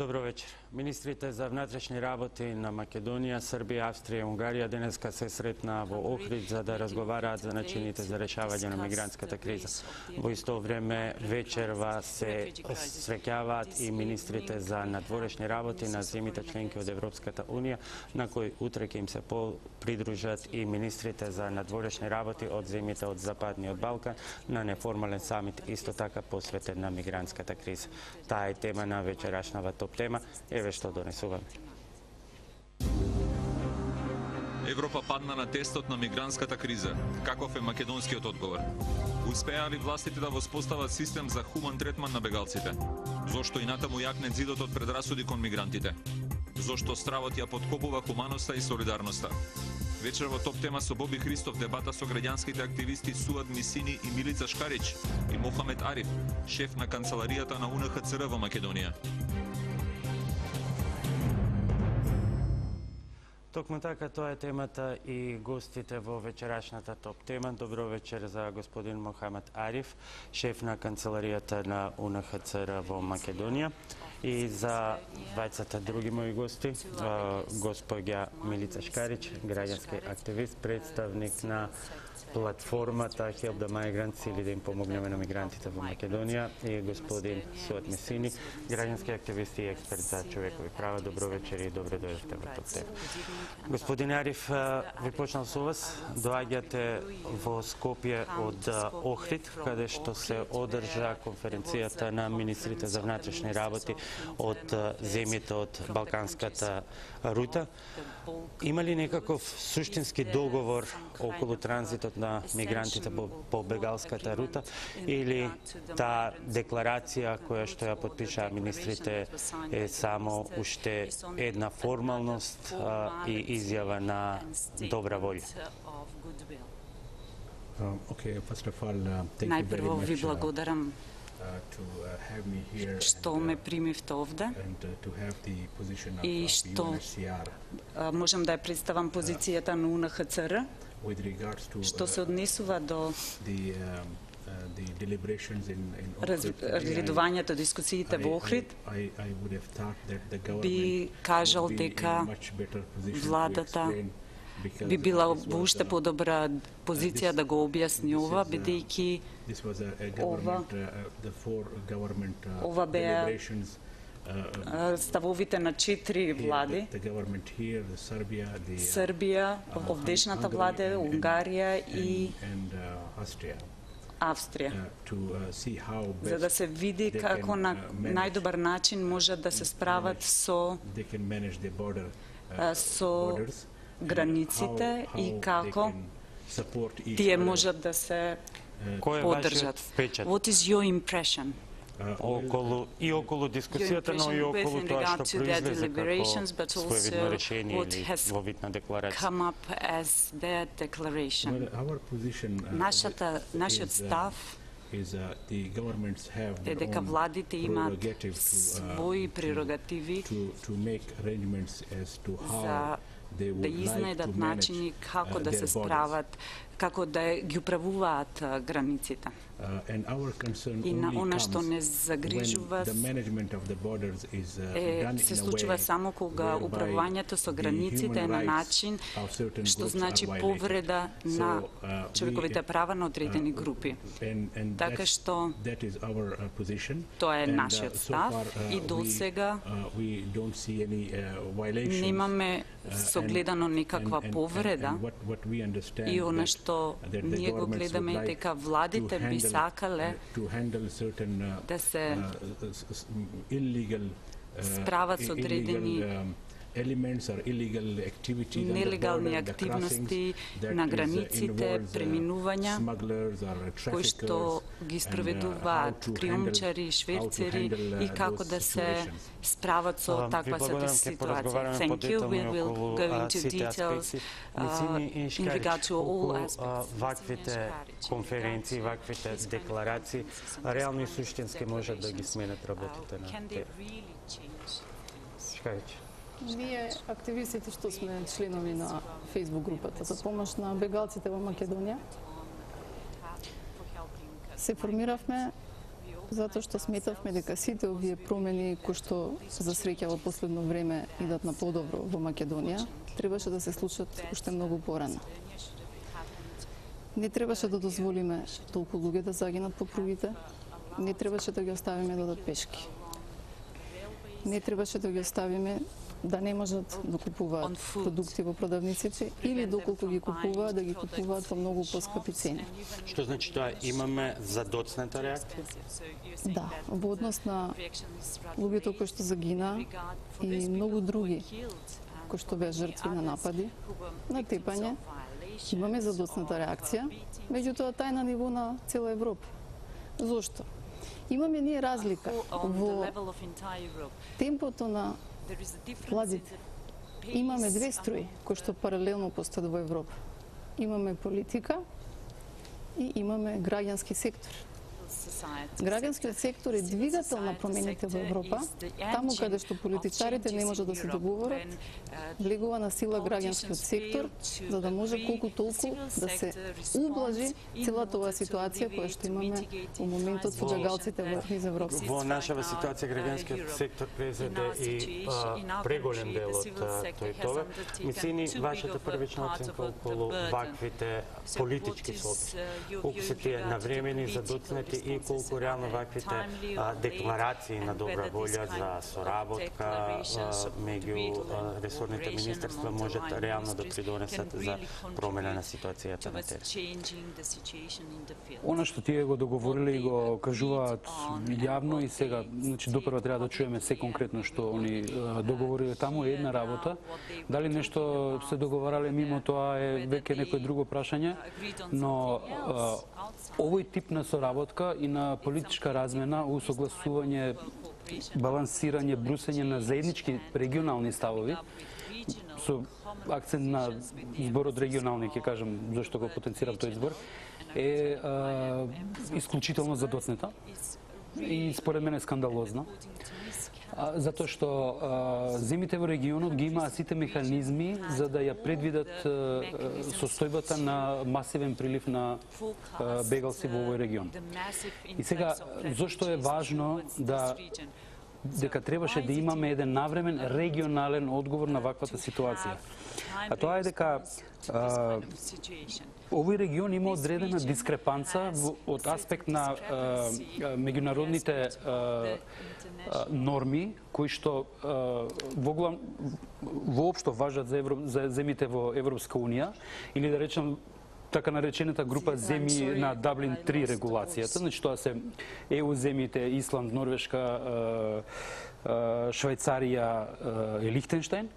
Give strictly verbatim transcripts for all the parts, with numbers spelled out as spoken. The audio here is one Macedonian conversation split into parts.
Добро вечер. Министрите за внатрешни работи на Македонија, Србија, Австрија и Унгарија денеска се сретнаа во Охрид за да разговараат за начините за решавање на мигрантската криза. Во исто време вечерва се среќаваат и министрите за надворешни работи на земјите членки од Европската унија, на кои утре ќе им се придружат и министрите за надворешни работи од земјите од Западниот Балкан на неформален самит исто така посветен на мигрантската криза. Таа е тема на вечерашната топ тема. Еве што донесуваме. Европа падна на тестот на мигрантската криза. Каков е македонскиот одговор? Успеа ли властите да воспостават систем за хуман третман на бегалците? Зошто и натаму јакне зидот од предрасуди кон мигрантите? Зошто стравот ја подкопува хуманоста и солидарноста? Вечер во топ тема со Боби Христов дебата со граѓанските активисти Суад Мисини и Милица Шкарич и Мохамед Ариф, шеф на канцеларијата на У Н Х Ц Р во Македонија. Токму така, тоа е темата и гостите во вечерашната топ тема. Добро вечер за господин Мохамед Ариф, шеф на канцеларијата на У Н Х Ц Р во Македонија. И за двајцата други мои гости, господја Милица Шкарич, граѓански активист, представник на платформата Help the Migrants, или да им помогнеме на мигрантите во Македонија, и господин Суад Мисини, граѓански активист и експерт за човекови права. Добро вечер и добре дојдовте во топ тема. Господин Ариф, ви почнал со вас. Доаѓате во Скопје од Охрид, каде што се одржа конференцијата на министрите за внатрешни работи од земјите од Балканската рута. Има ли некаков суштински договор околу транзитот на мигрантите по, по бегалската рута, или таа декларација која што ја подпишаа министрите е само уште една формалност а, и изјава на добра волја? Најпрво ви благодарам што ме примивте овде и што можам да ја представам позицијата на У Н Х Ц Р што се однесува до разгледувањето, дискусиите во Охрид. Би кажал дека владата би била во уште подобра позиција да го објасни ова, бидејќи ова, ова беа ставовите на четири влади: Србија, овдешната влада, Унгарија и Австрија, за да се види како на најдобар начин можат да се справат со со границите и како тие можат да се поддржат. What is your impression? Околу и околу дискусијата, но и околу тоа што произлезе како своевидно решение или во вид на декларација. Нашата, нашиот став е дека владите имаат своји прерогативи за да изнајдат начини како да се справат, како да ги управуваат границите. И на она што не загрижува е, се случува само кога управувањето со границите е на начин што значи повреда на човековите права на одредени групи. Така што тоа е нашиот став и досега немаме согледано никаква повреда, и она што ние го гледаме е дека владите би сакале да се справат со одредени нелегални активности на границите, преминувања, кои што ги спроведуваат криумчари, шверцери, и како да се справат со таква ситуација. Thank you. We will go into details uh, in regard to all aspects. Ваквите конференции, ваквите декларации реално и суштински можат да ги сменат работите на те. Шкајќ. Ние, активистите што сме членови на Facebook групата за помош на бегалците во Македонија, се формиравме Затоа што сметавме дека сите овие промени кои што за среќа во последно време идат на подобро во Македонија, требаше да се случат уште многу порано. Не требаше да дозволиме толку луѓе да загинат по пругите, не требаше да ги оставиме да одат пешки. Не требаше да ги оставиме да не можат да купуваат продукти во продавниците или доколку ги купуваат, да ги купуваат по многу поскапи цени. Што значи тоа? Имаме задоцната реакција? Да, во однос на луѓето кои што загина и многу други кои што беа жртви на напади, на тепање, имаме задоцната реакција, меѓутоа тај на ниво на цела Европа. Зошто? Имаме ние разлика во темпото на владите. Имаме две струи кои што паралелно постојат во Европа. Имаме политика и имаме граѓански сектор. Граѓанскиот сектор е двигател на промените во Европа, таму каде што политичарите не можат да се договорат, влегува на сила граѓанскиот сектор, за да може колку толку да се ублажи целата оваа ситуација која што имаме во моментот со џагалците во низ Европа. Во нашава ситуација граѓанскиот сектор презеде и а, преголем дел од тој тоа. Мислини вашата првична оценка околу ваквите политички слоби? Колку се тие навремени, задоцнати и колку реално ваквите а, декларации на добра волја за соработка меѓу ресорните министерства можат реално да придонесат за промена на ситуацијата на терен? Она што тие го договориле и го кажуваат јавно и сега, значи допрва треба да чуеме се конкретно што они договориле таму е една работа. Дали нешто се договарале мимо тоа е веќе некој друго прашање, но а, овој тип на соработка и на политичка размена, усогласување, балансирање, брусење на заеднички регионални ставови, со акцент на зборот регионални, ќе кажам, зашто го потенцирав тој збор, е а, исклучително задоцнета и според мене скандалозна. А, затоа што а, земите во регионот ги имаат сите механизми за да ја предвидат а, состојбата на масивен прилив на а, бегалци во овој регион. И сега, зошто е важно да дека требаше да имаме еден навремен регионален одговор на ваквата ситуација. А тоа е дека а, овој регион има одредена дискрепанца од аспект на а, меѓународните а, норми кои што воглам воопшто важат за, Евро, за земите во Европска унија или да речем така наречената група земји на Даблин три регулацијата, значи тоа се Е У земјите Исланд, Норвешка, Швајцарија и Лихтенштајн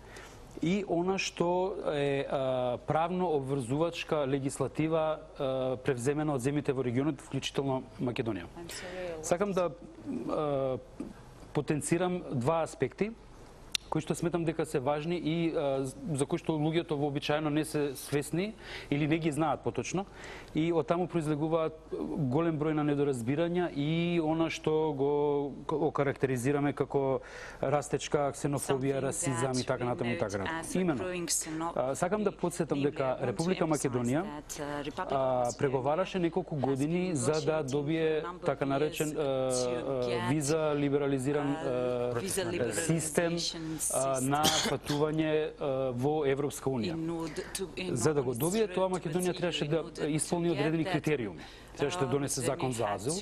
и она што е правно обврзувачка легислатива превземена од земите во регионот, вклучително Македонија. Сакам да потенцирам два аспекти кои што сметам дека се важни и а, за кои што луѓето вообичаено не се свесни или не ги знаат поточно и од таму произлегуваат голем број на недоразбирања и она што го окарактеризираме како растечка ксенофобија, расизам и така натаму и така натаму. Имено, а, сакам да подсетам дека Република Македонија а, преговараше неколку години за да добие така наречен а, а, виза либерализиран а, систем на патување во Европска унија. За да го добие тоа, Македонија требаше да исполни одредени критериуми. Требаше да донесе закон за азил,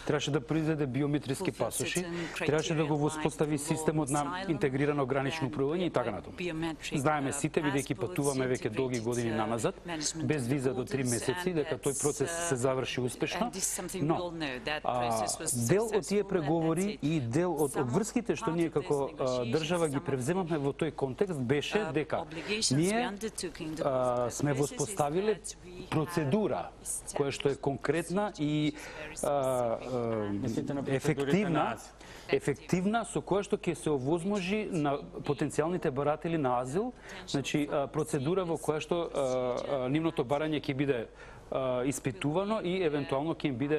требаше да произведе биометриски пасоши, требаше да го воспостави системот на интегрирано гранично управување и така натаму. Знаеме сите, бидејќи патуваме веќе долги години наназад, без виза до три месеци, дека тој процес се заврши успешно, но а, дел од тие преговори и дел од обврските што ние како а, држава ги превземавме во тој контекст беше дека ние а, сме воспоставиле процедура која што е конкретна и а, а, ефективна, ефективна со која што ќе се овозможи на потенцијалните баратели на азил, значи а, процедура во која што а, а, нивното барање ќе биде испитувано и евентуално ќе им биде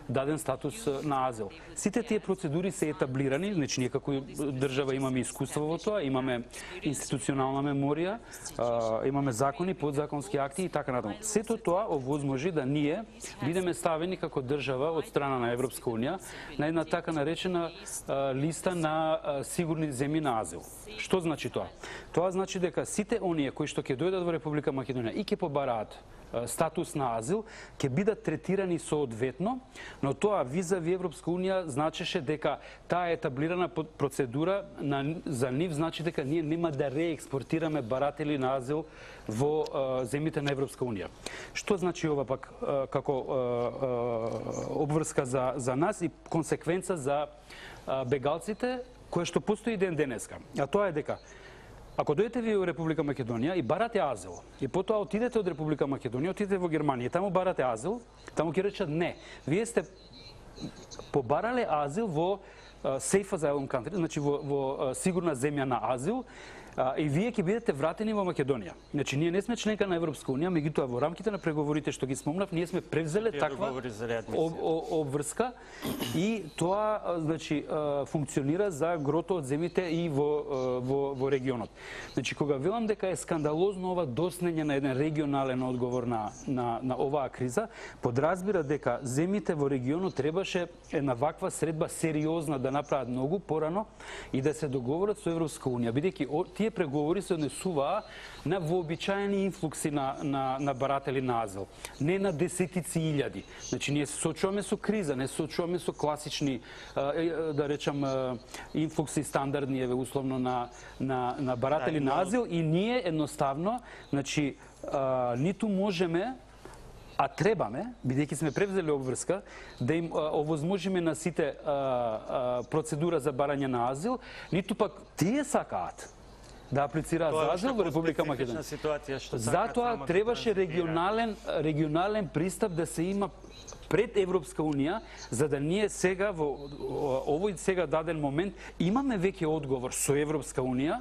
даден статус на азил. Сите тие процедури се етаблирани, значи ние како држава имаме искуство во тоа, имаме институционална меморија, имаме закони, подзаконски акти и така натаму. Сето тоа овозможи да ние бидеме ставени како држава од страна на Европска унија на една така наречена листа на сигурни земји на азил. Што значи тоа? Тоа значи дека сите оние кои што ќе дојдат во Република Македонија и ќе побараат статус на азил, ќе бидат третирани соодветно, но тоа визави Европска унија значеше дека таа етаблирана процедура на, за нив значи дека ние нема да реекспортираме баратели на азил во а, земјите на Европска унија. Што значи ова пак а, како а, а, обврска за, за нас и консеквенца за а, бегалците, кое што постои ден денеска. А тоа е дека ако дојдете ви во Република Македонија и барате азил, и потоа отидете од Република Македонија, отидете во Германија, таму барате азил, таму ќе речат не. Вие сте побарале азил во uh, safe asylum country, значи во, во uh, сигурна земја на азил, Uh, и вие ќе бидете вратени во Македонија. Значи, ние не сме членка на Европска унија, меѓутоа во рамките на преговорите што ги спомнав, ние сме превзеле таква об, обврска и тоа значи функционира за грото од земјите и во, во, во регионот. Значи, кога велам дека е скандалозно ова доснење на еден регионален одговор на, на, на оваа криза, подразбира дека земјите во регионот требаше една ваква средба сериозна да направат многу порано и да се договорат со Европска унија, бидејќи тие преговори се однесуваа на вообичаени инфлукси на, на, на баратели на азил, не на десетици илјади. Значи, ние се соочуваме со криза, не се соочуваме со класични, да речам, инфлукси стандардни, еве, условно, на, на, на баратели на азил и ние едноставно, значи, ниту можеме, а требаме, бидејќи сме превзели обврска, да им овозможиме на сите а, а, процедура за барање на азил, ниту пак тие сакаат да аплицираат за азил во Република Македонија. Затоа требаше регионален регионален пристап да се има пред Европска унија, за да ние сега во овој сега даден момент имаме веќе одговор со Европска унија.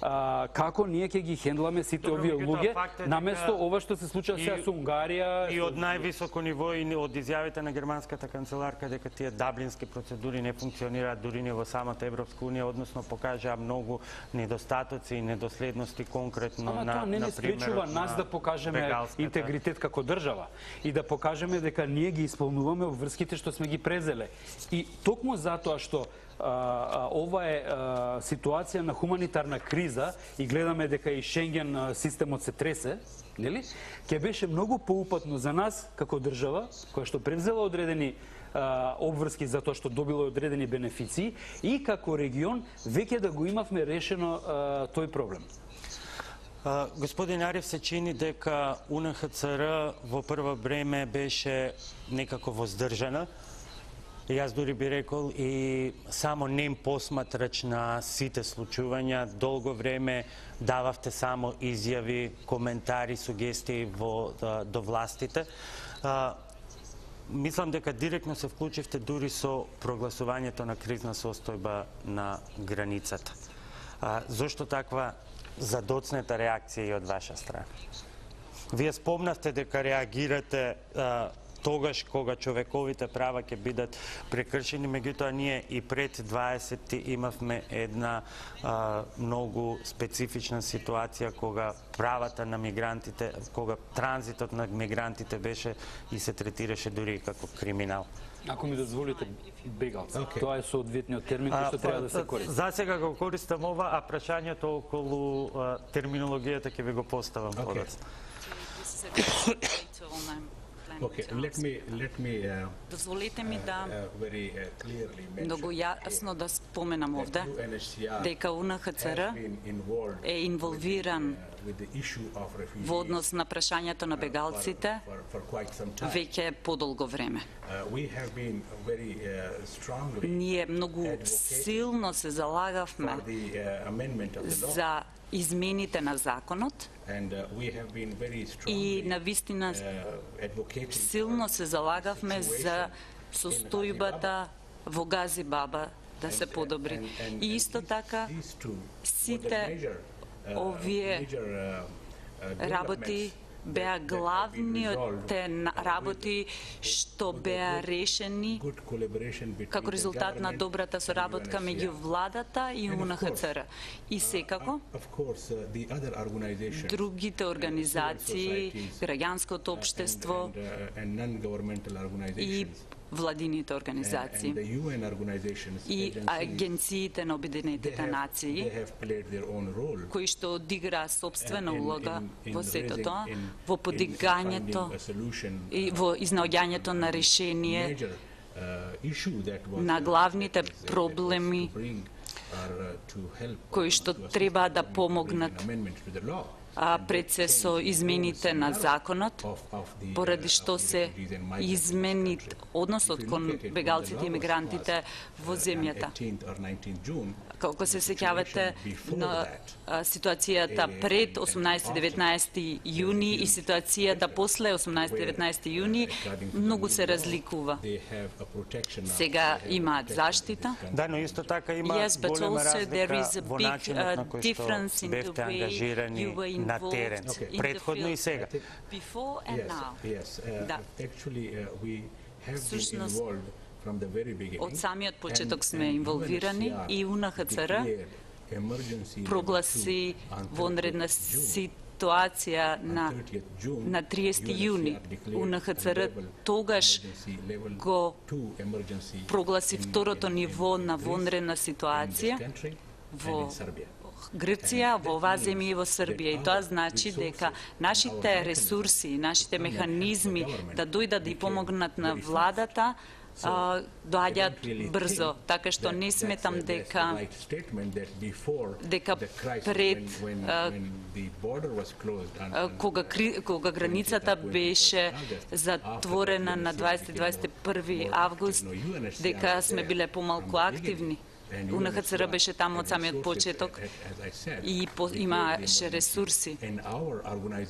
А, како ние ќе ги хендламе сите овие луѓе, наместо ова што се случува сега со Унгарија. И од највисоко ниво и од изјавите на германската канцеларка дека тие даблински процедури не функционираат дури ни во самата Европска унија, односно покажаа многу недостатоци и недоследности конкретно Ама на тоа не не спречува нас да покажеме интегритет како држава и да покажеме дека ние ги исполнуваме обврските што сме ги презеле. И токму затоа што А, а, ова е а, ситуација на хуманитарна криза и гледаме дека и Шенген системот се тресе, нели? Ќе беше многу поупатно за нас како држава, која што превзела одредени а, обврски за тоа што добила одредени бенефиции и како регион веќе да го имавме решено а, тој проблем. Uh, господин Ариф, се чини дека У Н Х Ц Р во прво време беше некако воздржана. Јас дури би рекол и само нем посматрач на сите случувања, долго време дававте само изјави, коментари, сугестии во, да, до властите. А, мислам дека директно се вклучивте дури со прогласувањето на кризна состојба на границата. А, зошто таква задоцнета реакција и од ваша страна? Вие спомнавте дека реагирате а, тогаш кога човековите права ќе бидат прекршени, меѓутоа ние и пред дваесетти имавме една а, многу специфична ситуација кога правата на мигрантите, кога транзитот на мигрантите беше и се третираше дури како криминал. Ако ми дозволите, бегалци. Okay. Тоа е соодветниот термин кој што треба да се користи. За сега го користам ова, а прашањето околу а, терминологијата ќе ви го поставам подоцна. Okay, let me, let me, uh, Дозволете ми да uh, very, uh, clearly mention многу јасно да споменам овде дека У Н Х Ц Р е инволвиран во однос на прашањето на бегалците веќе подолго време. Ние многу силно се залагавме за измените на законот и навистина силно се залагавме за состојбата во Гази Баба да се подобри. И исто така сите овие работи беа главните работи што беа решени како резултат на добрата соработка меѓу владата и У Н Х Ц Р. И секако, другите организации, граѓанското општество и владините организации и агенциите на Обединетите нации, кои што одиграа собствена улога во сето тоа, во подигањето и во изнаоѓањето на решение на главните проблеми кои што треба да помогнат пред се со измените на законот, поради што се измени односот кон бегалците и мигрантите во земјата. Колку се сеќавате на ситуацијата пред осумнаесети и деветнаесети јуни и ситуацијата после осумнаесети и деветнаесети јуни, многу се разликува. Сега имаат заштита. Да, но исто така има yes, голема разлика во начинот на кој што бевте ангажирани на терен, предходно и сега. Всушност, од самиот почеток сме инволвирани и У Н Х Ц Р прогласи вонредна ситуација на, на триесети јуни. У Н Х Ц Р тогаш го прогласи второто ниво на вонредна ситуација во Грција, во оваа земја и во Србија. И тоа значи дека нашите ресурси, нашите механизми да дојдат да и помогнат на владата, доаѓаат брзо, така што не сметам дека дека пред кога кога границата беше затворена на дваесети и дваесет и први август, дека сме биле помалку активни. У Н Х Ц Р беше таму од самиот почеток и имаше ресурси.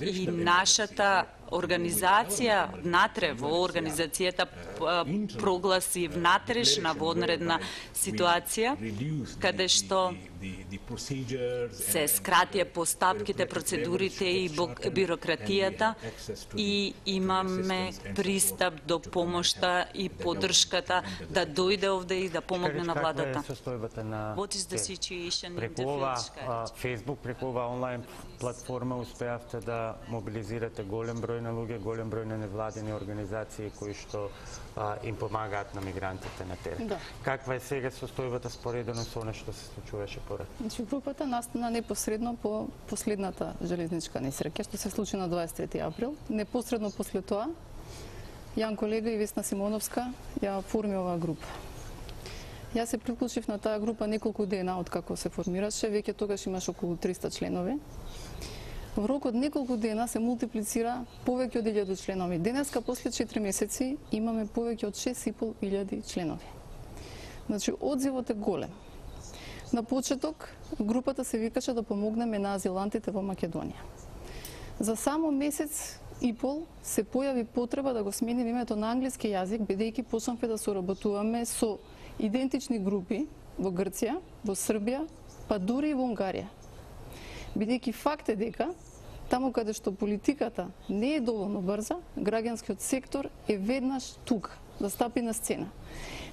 И нашата организација внатре во организацијата прогласи внатрешна вонредна ситуација, каде што се скратија постапките, процедурите и бирократијата и имаме пристап до помошта и поддршката да дојде овде и да помогне на владата. Преку ова Facebook, преку ова онлайн платформа успеавте да мобилизирате голем број на луѓе, голем број на невладини организации кои што а, им помагаат на мигрантите на терен. Да. Каква е сега состојбата споредено со она што се случуваше порад? Значи, групата настана непосредно по последната железничка несреќа што се случи на дваесет и трети април. Непосредно после тоа, Јан колега и Весна Симоновска ја форми оваа група. Јас се приклучив на таа група неколку дена од како се формираше, веќе тогаш имаш околу триста членови. Во рок од неколку дена се мултиплицира повеќе од илјаду членови. Денеска, после четири месеци, имаме повеќе од шест и пол илјади членови. Значи, одзивот е голем. На почеток, групата се викаше да помогнеме на азилантите во Македонија. За само месец и пол се појави потреба да го сменим името на англиски јазик, бидејќи почнавме да соработуваме со идентични групи во Грција, во Србија, па дури и во Унгарија. Бидејќи факт е дека, таму каде што политиката не е доволно брза, граѓанскиот сектор е веднаш тука, да стапи на сцена.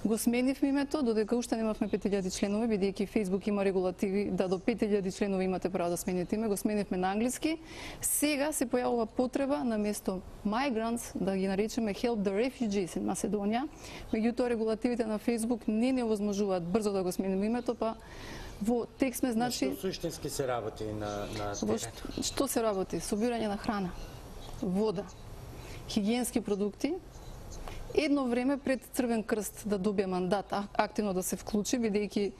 Го сменивме името, додека уште немавме пет илјади членови, бидејќи Facebook има регулативи да до пет илјади членови имате право да смените име, го сменивме на англиски. Сега се појавува потреба на место migrants да ги наречеме help the refugees in Macedonia. Меѓутоа регулативите на Facebook не не овозможуваат брзо да го смениме името, па во текст сме значи Што суштински се работи на на терен? Што се работи? Собирање на храна, вода, хигиенски продукти. Едно време пред Црвен крст да добие мандат активно да се вклучи, бидејќи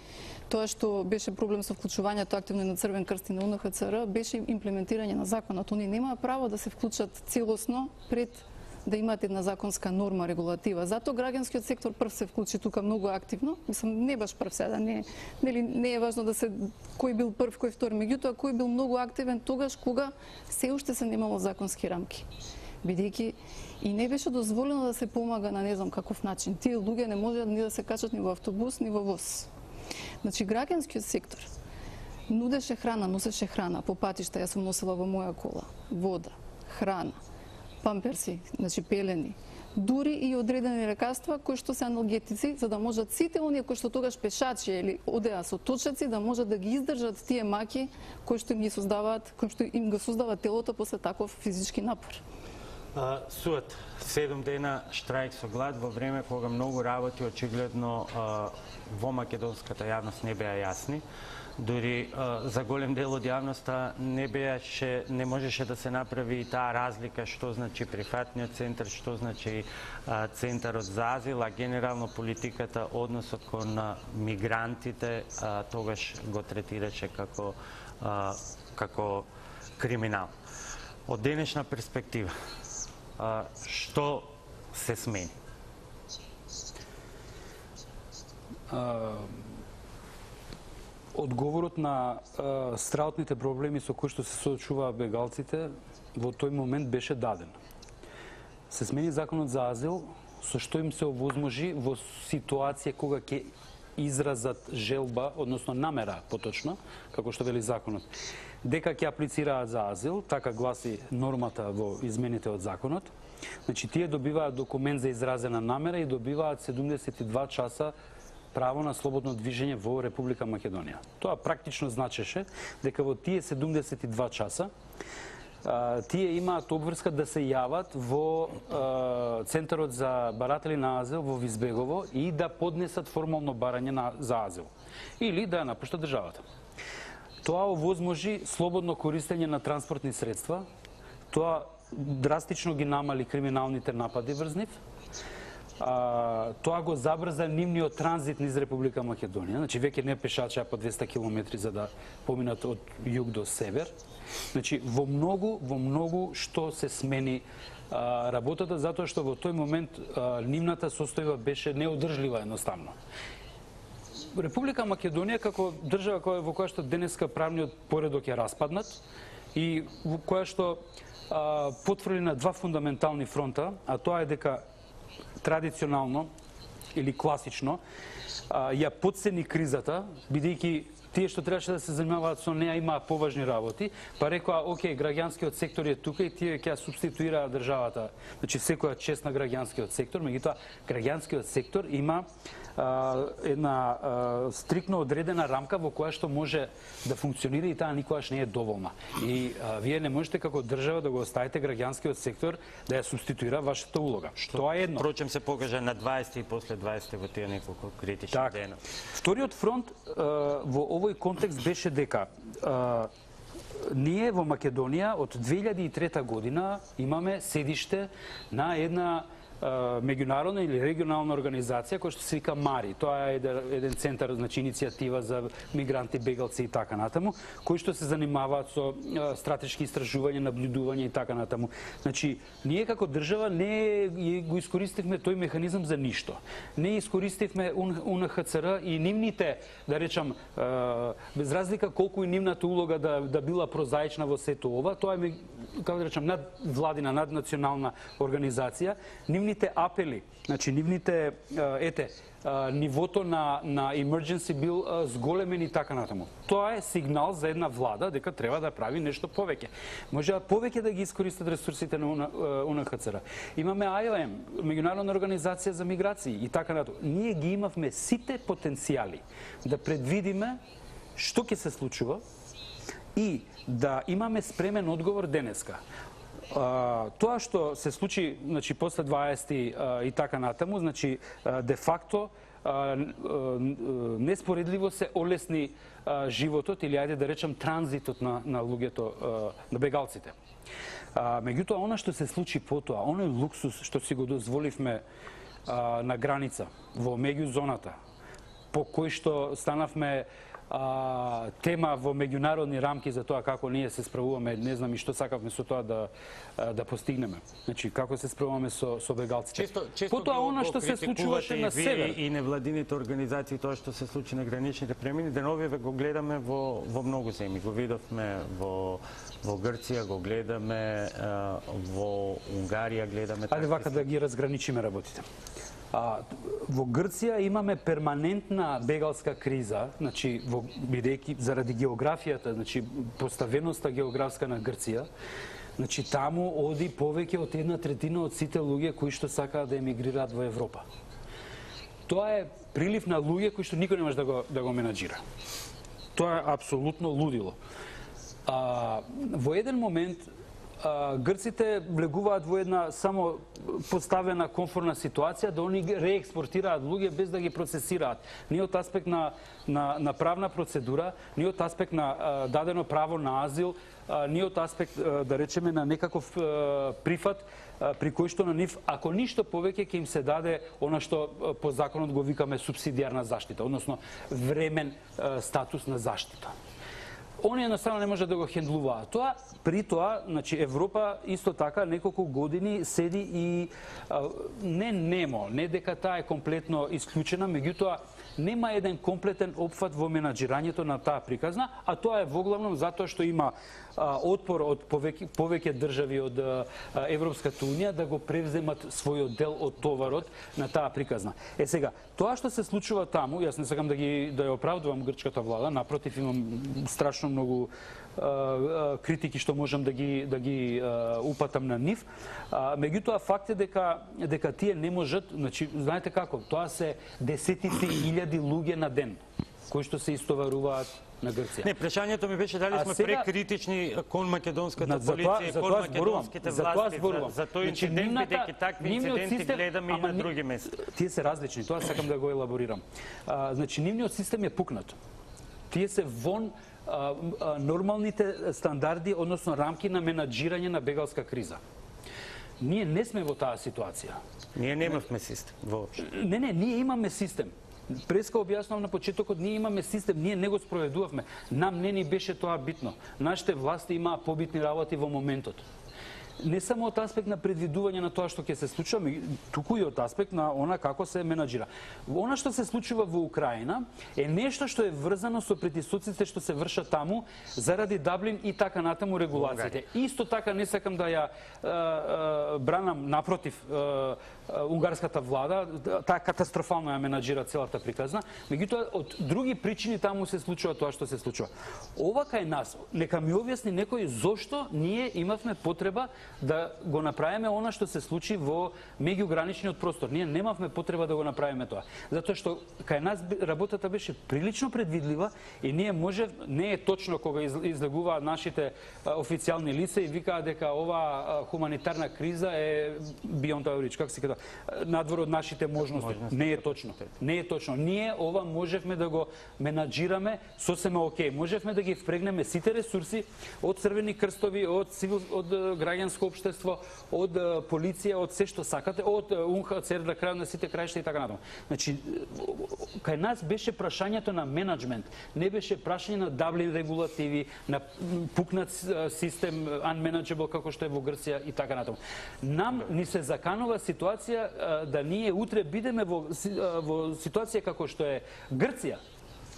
тоа што беше проблем со вклучувањето активно на Црвен крст и на У Н Х Ц Р беше имплементирање на законот. Они немаа право да се вклучат целосно пред да имаат една законска норма, регулатива. Зато граѓанскиот сектор прв се вклучи тука многу активно. Мислам, не баш прв сега, не, нели, не е важно да се кој бил прв, кој втор, меѓутоа кој бил многу активен тогаш кога се уште се немало законски рамки. Бидејќи и не беше дозволено да се помага на не знам каков начин. Тие луѓе не можеат ни да се качат ни во автобус, ни во воз. Значи, граѓанскиот сектор нудеше храна, носеше храна по патишта, јас сум носила во моја кола, вода, храна, памперси, значи пелени, дури и одредени лекарства кои што се аналгетици, за да можат сите оние кои што тогаш пешачи или одеа со точаци да можат да ги издржат тие маки кои што им ги создаваат, кои што им го создава телото после таков физички напор. Uh, сует, седум дена штрајк со глад во време кога многу работи очигледно uh, во македонската јавност не беа јасни. Дури uh, за голем дел од јавноста не беаше, не можеше да се направи и таа разлика што значи прифатниот центар, што значи uh, центарот за азил, а генерално политиката, односот кон uh, мигрантите uh, тогаш го третираше како uh, како криминал. Од денешна перспектива, Uh, што се смени? Uh, одговорот на uh, страутните проблеми со кои што се соочуваа бегалците во тој момент беше даден. Се смени законот за азил, со што им се овозможи во ситуација кога ќе изразат желба, односно намера поточно, како што вели законот, дека ќе аплицираат за азил, така гласи нормата во измените од законот. Значи, тие добиваат документ за изразена намера и добиваат седумдесет и два часа право на слободно движење во Република Македонија. Тоа практично значеше дека во тие седумдесет и два часа а, тие имаат обврска да се јават во а, Центарот за баратели на азил во Визбегово и да поднесат формално барање на, за азил или да ја напуштат државата. Тоа овозможи слободно користење на транспортни средства, тоа драстично ги намали криминалните напади врз нив, а, тоа го забрза нивниот транзит низ Република Македонија, значи веќе не пешачеа по двесте километри за да поминат од југ до север. Значи во многу, во многу што се смени а, работата, затоа што во тој момент а, нивната состојба беше неодржлива едноставно. Република Македонија како држава која во која што денеска правниот поредок е распаднат и во која што а, потврди на два фундаментални фронта, а тоа е дека традиционално или класично а, ја подцени кризата, бидејќи тие што требаше да се занимаваат со неа имаа поважни работи, па рекоа, окей, граѓанскиот сектор е тука и тие ќе ја субституираат државата, значи секоја чест на граѓанскиот сектор, меѓутоа граѓанскиот сектор има а, една а, стрикно одредена рамка во која што може да функционира и таа никогаш не е доволна. И а, вие не можете како држава да го оставите граѓанскиот сектор да ја субституира вашата улога. Што тоа е едно. Впрочем се покажа на дваесети и после дваесети во тие неколку критични так. дена. Вториот фронт а, во овој контекст беше дека а, ние во Македонија од две илјади и трета година имаме седиште на една меѓународна или регионална организација која што се вика МАРИ. Тоа е еден центар, значи иницијатива за мигранти, бегалци и така натаму, кои што се занимаваат со стратешки истражувања, наблюдување и така натаму. Значи, ние како држава не го искористивме тој механизам за ништо. Не искористивме У Н Х Ц Р и нивните, да речам, без разлика колку и нивната улога да, да била прозаична во сето ова, тоа е, како да речам, надвладина, наднационална организација. Нивните апели, значи нивните, ете, нивото на, на emergency бил зголемен и така натаму. Тоа е сигнал за една влада дека треба да прави нешто повеќе. Може повеќе да ги искористат ресурсите на У Н Х Ц Р. Имаме А О М, меѓународна организација за миграции и така натаму. Ние ги имавме сите потенцијали да предвидиме што ќе се случува и да имаме спремен одговор денеска. Uh, тоа што се случи, значи после дваесети uh, и така натаму, значи uh, де факто uh, uh, неспоредливо се олесни uh, животот или ајде да речам транзитот на на луѓето, uh, на бегалците. Uh, меѓутоа она што се случи потоа, оној луксус што си го дозволивме uh, на граница во меѓузоната, по кој што станавме А, тема во меѓународни рамки за тоа како ние се справуваме, не знам и што сакавме со тоа да да постигнеме. Значи како се справуваме со со бегалците. Често, често потоа она што се случуваше на север и невладините организации, тоа што се случи на граничните премини, деновиве го гледаме во во многу земји. Го видовме во во Грција, го гледаме во Унгарија, гледаме. Ајде вака да ги разграничиме работите. А, во Грција имаме перманентна бегалска криза, значи во бидејќи заради географијата, значи поставеноста географска на Грција, значи таму оди повеќе од една третина од сите луѓе кои што сакаат да емигрираат во Европа. Тоа е прилив на луѓе кои што никој не може да го да го менаџира. Тоа е апсолутно лудило. А, во еден момент а, грците влегуваат во една само поставена комфортна ситуација да они реекспортираат луѓе без да ги процесираат. Ни од аспект на, на, на правна процедура, ни од аспект на а, дадено право на азил, а, ни од аспект, а, да речеме, на некаков а, прифат, а, при кој што на нив, ако ништо повеќе, ќе им се даде она што а, по законот го викаме субсидијарна заштита, односно времен а, статус на заштита. Они едноставно не може да го хендлуваат. Тоа, при тоа, значи Европа исто така неколку години седи и а, не немо, не дека таа е комплетно исклучена, меѓутоа нема еден комплетен опфат во менаџирањето на таа приказна, а тоа е воглавно затоа што има а, отпор од повеќе, повеќе држави од а, Европската унија да го превземат својот дел од товарот на таа приказна. Е сега, тоа што се случува таму, јас не сакам да ги да ја оправдувам грчката влада, напротив имам страшно многу а, а, критики што можам да ги да ги а, упатам на нив. А, меѓутоа факт е дека дека тие не можат, значи знаете како, тоа се десетици илјади луѓе на ден кои што се истоваруваат на Грција. Не, прашањето ми беше дали сме сега прекритични кон македонската полиција и кон македонските власти за тој инцидент, бидејќи такви инциденти гледаме и на други места. Тие се различни, тоа сакам да го елаборирам. А, значи нивниот систем е пукнат. Тие се вон а, а, нормалните стандарди, односно рамки на менаџирање на бегалска криза. Ние не сме во таа ситуација. Ние немавме систем воопшто. Не, не, ние имаме систем. Преска објаснав на почетокот, ние имаме систем, ние не го спроведувавме. Нам не ни беше тоа битно. Нашите власти имаа побитни работи во моментот. Не само од аспект на предвидување на тоа што ќе се случува, туку и од аспект на она како се менаџира. Она што се случува во Украина е нешто што е врзано со притисоците што се вршат таму заради Даблин и така натаму регулациите. Исто така не сакам да ја а, а, бранам напротив а, а, унгарската влада, таа катастрофално ја менаџира целата приказна, меѓутоа од други причини таму се случува тоа што се случува. Ова кај нас, нека ми објасни некој зошто ние имавме потреба да го направиме она што се случи во меѓуграничниот простор. Ние немавме потреба да го направиме тоа. Затоа што кај нас работата беше прилично предвидлива и ние може, не е точно кога излегуваат нашите а, официјални лица и викаат дека ова хуманитарна криза е beyond our reach, како се кажа, надвор од нашите можности. Не е точно. Не е точно. Ние ова можевме да го менаџираме сосема окей. Можевме да ги впрегнеме сите ресурси од црвени крстови, од цивил, од граѓанско општество, од полиција, од се што сакате, од УН Х Ц Р на крај на сите краишта и така натаму. Значи, кај нас беше прашањето на менеджмент, не беше прашање на Даблин регулативи, на пукнат систем, unmanageable како што е во Грција и така натаму. Нам ни се заканува ситуација да ние утре бидеме во, во ситуација како што е Грција,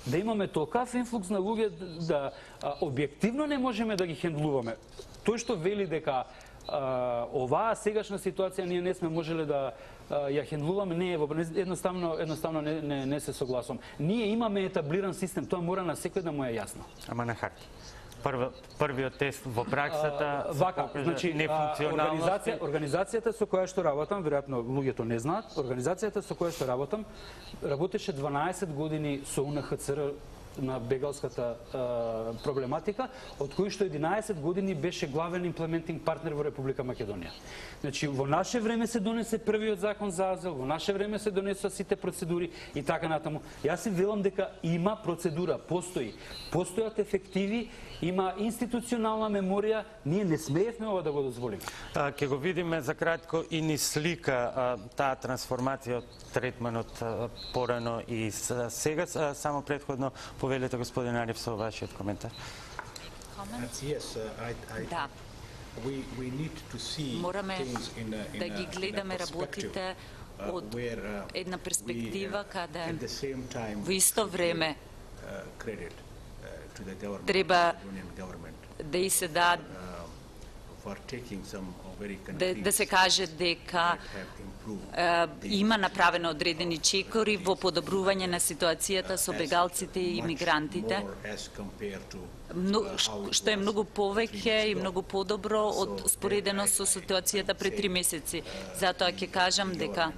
да имаме толкав инфлукс на луѓе да а, објективно не можеме да ги хендлуваме. Тој што вели дека а, оваа сегашна ситуација ние не сме можеле да а, ја хендлуваме, не е во едноставно едноставно не, не, не се согласувам. Ние имаме етаблиран систем, тоа мора на секој да му е јасно. Ама на харта. Прв, првиот тест во праксата а, вака, значи, нефункционалности. Организација, организацијата со која што работам, веројатно луѓето не знаат, организацијата со која што работам работеше дванаесет години со У Н Х Ц Р на бегалската а, проблематика, од кои што единаесет години беше главен имплементинг партнер во Република Македонија. Значи, во наше време се донесе првиот закон за азил, во наше време се донесоа сите процедури и така натаму. Јас си велам дека има процедура, постои. Постојат ефективи, има институционална меморија, ние не смеевме ова да го дозволиме. Ќе го видиме за кратко и ни слика а, таа трансформација од третманот а, порано и сега, а, само предходно повелете господин Ариф со вашиот коментар. Да. Мораме да ги гледаме работите од една перспектива каде во исто време треба да и се дадат да, да се каже дека е, има направено одредени чекори во подобрување на ситуацијата со бегалците и имигрантите, што е многу повеќе и многу подобро од споредено со ситуацијата пред три месеци. Затоа ќе кажам дека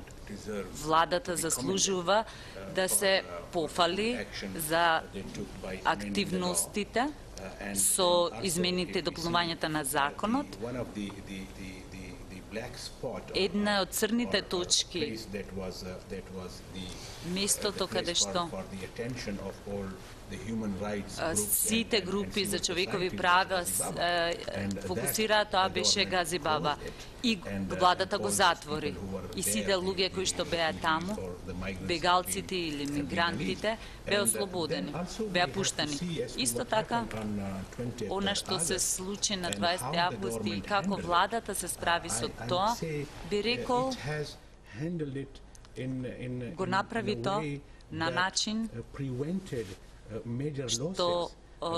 владата заслужува да се пофали за активностите со измените и дополнувањата на законот. Една од црните точки, местото каде што сите групи за човекови права фокусираат, тоа беше Гази Баба. И владата го затвори. И сите луѓе кои што беа таму, бегалците или мигрантите, беа ослободени, беа пуштани. Исто така, она што се случи на дваесети август и како владата се справи со тоа, би рекол, го направи тоа на начин што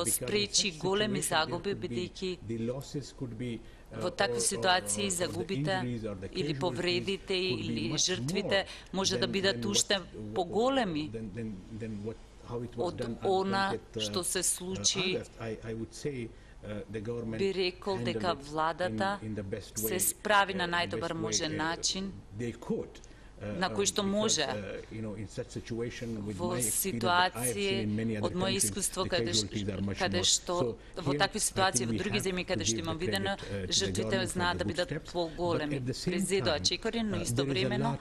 спречи големи загуби, бидејќи во такви ситуации загубите или повредите или жртвите може да бидат уште поголеми од она што се случи. Би рекол дека владата се справи на најдобар можен начин, на кој што може во ситуации од моје искуство каде каде што во такви ситуации во други земји каде што имам видено, жртвите знаат да бидат поголеми. Презедоа чекори, но истовремено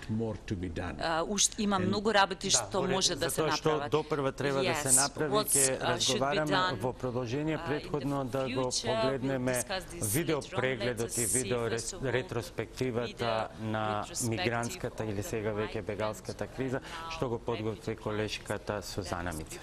уште има многу работи што може да се направат. Затоа што допрва треба да се направи, ќе разговараме во продолжение претходно да го погледнеме видео прегледот и видео ретроспективата на мигрантската или сега веќе бегалската криза, што го подготви колешката Сузана Мицев.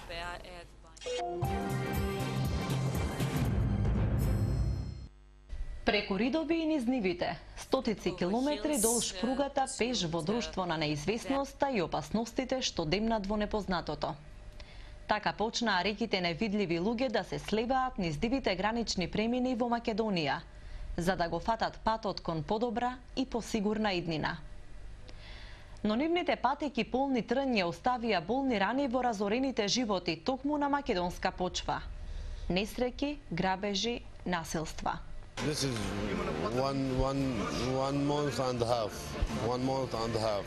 Преку ридови и низ нивите, стотици километри долж пругата пеш во друштво на неизвестноста и опасностите што демнат во непознатото. Така почнаа реките невидливи луѓе да се слеваат низ дивите гранични премини во Македонија, за да го фатат патот кон подобра и посигурна иднина. Но нивните патеки полни трнја оставија болни рани во разорените животи токму на македонска почва. Несреќи, грабежи, насилства. This is one, one, one month and a half. One month and a half.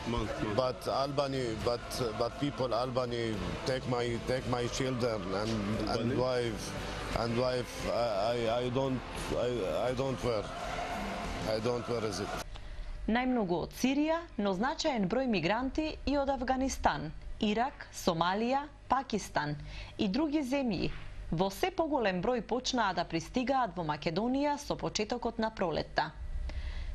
Month, month. But Albany, but but people Albany take my take my children and and wife and wife. I I don't I I don't wear. I don't wear is it. Најмногу од Сирија, но значаен број мигранти и од Авганистан, Ирак, Сомалија, Пакистан и други земји во се поголем број почнаа да пристигаат во Македонија со почетокот на пролетта.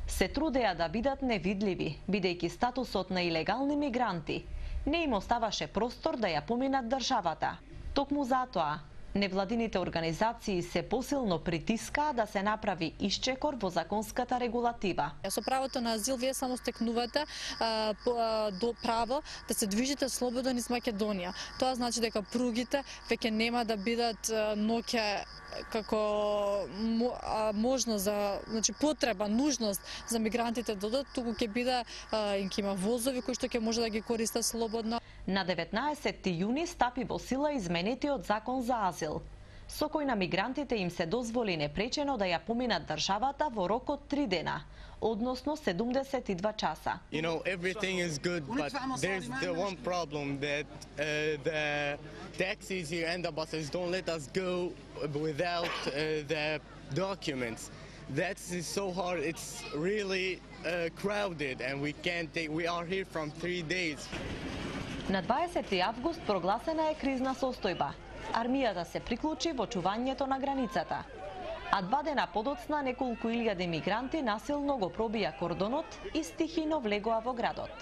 Се трудеа да бидат невидливи, бидејќи статусот на илегални мигранти не им оставаше простор да ја поминат државата. Токму затоа, невладините организации се посилно притискаа да се направи исчекор во законската регулатива. Со правото на азил вие само стекнувате а, по, а, до право да се движите слободно низ Македонија. Тоа значи дека пругите веќе нема да бидат ноќе како можност за, значи потреба, нужност за мигрантите да додат, туку ќе биде им ќе има возови кои што ќе може да ги користат слободно. На деветнаесетти јуни стапи во сила изменетиот закон за азил, со кој на мигрантите им се дозволи непречено да ја поминат државата во рок од три дена, односно седумдесет и два часа. You know, everything is good, but there's the one problem that uh, the taxis here and the buses don't let us go without uh, the documents. That's so hard. It's really uh, crowded, and we can't take. We are here from three days. На дваесети август прогласена е кризна состојба. Армијата се приклучи во чувањето на границата. А два дена подоцна неколку илјади мигранти насилно го пробија кордонот и стихино влегоа во градот.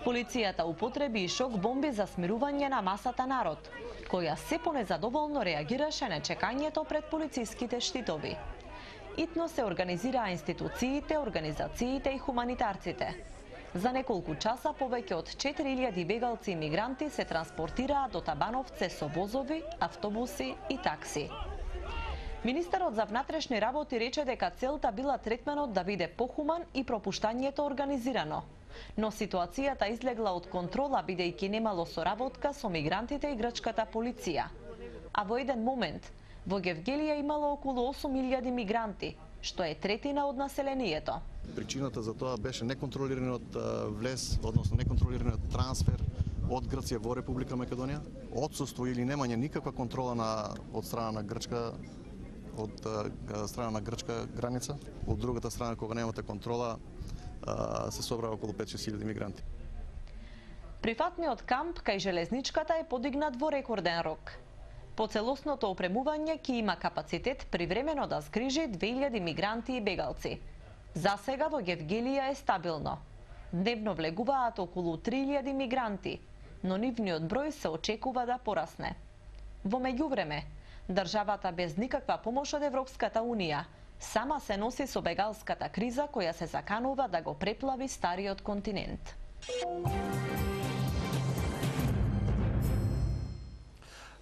Полицијата употреби и шок бомби за смирување на масата народ, која се понезадоволно реагираше на чекањето пред полициските штитови. Итно се организираа институциите, организациите и хуманитарците. За неколку часа повеќе од четири илјади бегалци и мигранти се транспортираа до Табановце со возови, автобуси и такси. Министерот за внатрешни работи рече дека целта била третманот да биде похуман и пропуштањето организирано. Но ситуацијата излегла од контрола бидејќи немало соработка со мигрантите и грчката полиција. А во еден момент во Гевгелија имало околу осум илјади мигранти, што е третина од населението. Причината за тоа беше неконтролираниот влез, односно неконтролираниот трансфер од Грција во Република Македонија, отсуство или немање никаква контрола на од страна на грчка од страна на грчка граница, од другата страна кога немате контрола се собраа околу пет-шест илјади мигранти. Прифатниот камп кај железничката е подигнат во рекорден рок. По целосното опремување ќе има капацитет привремено да згрижи две илјади мигранти и бегалци. За сега во Гевгелија е стабилно. Дневно влегуваат околу три илјади мигранти, но нивниот број се очекува да порасне. Во меѓувреме, државата без никаква помош од Европската Унија сама се носи со бегалската криза која се заканува да го преплави стариот континент.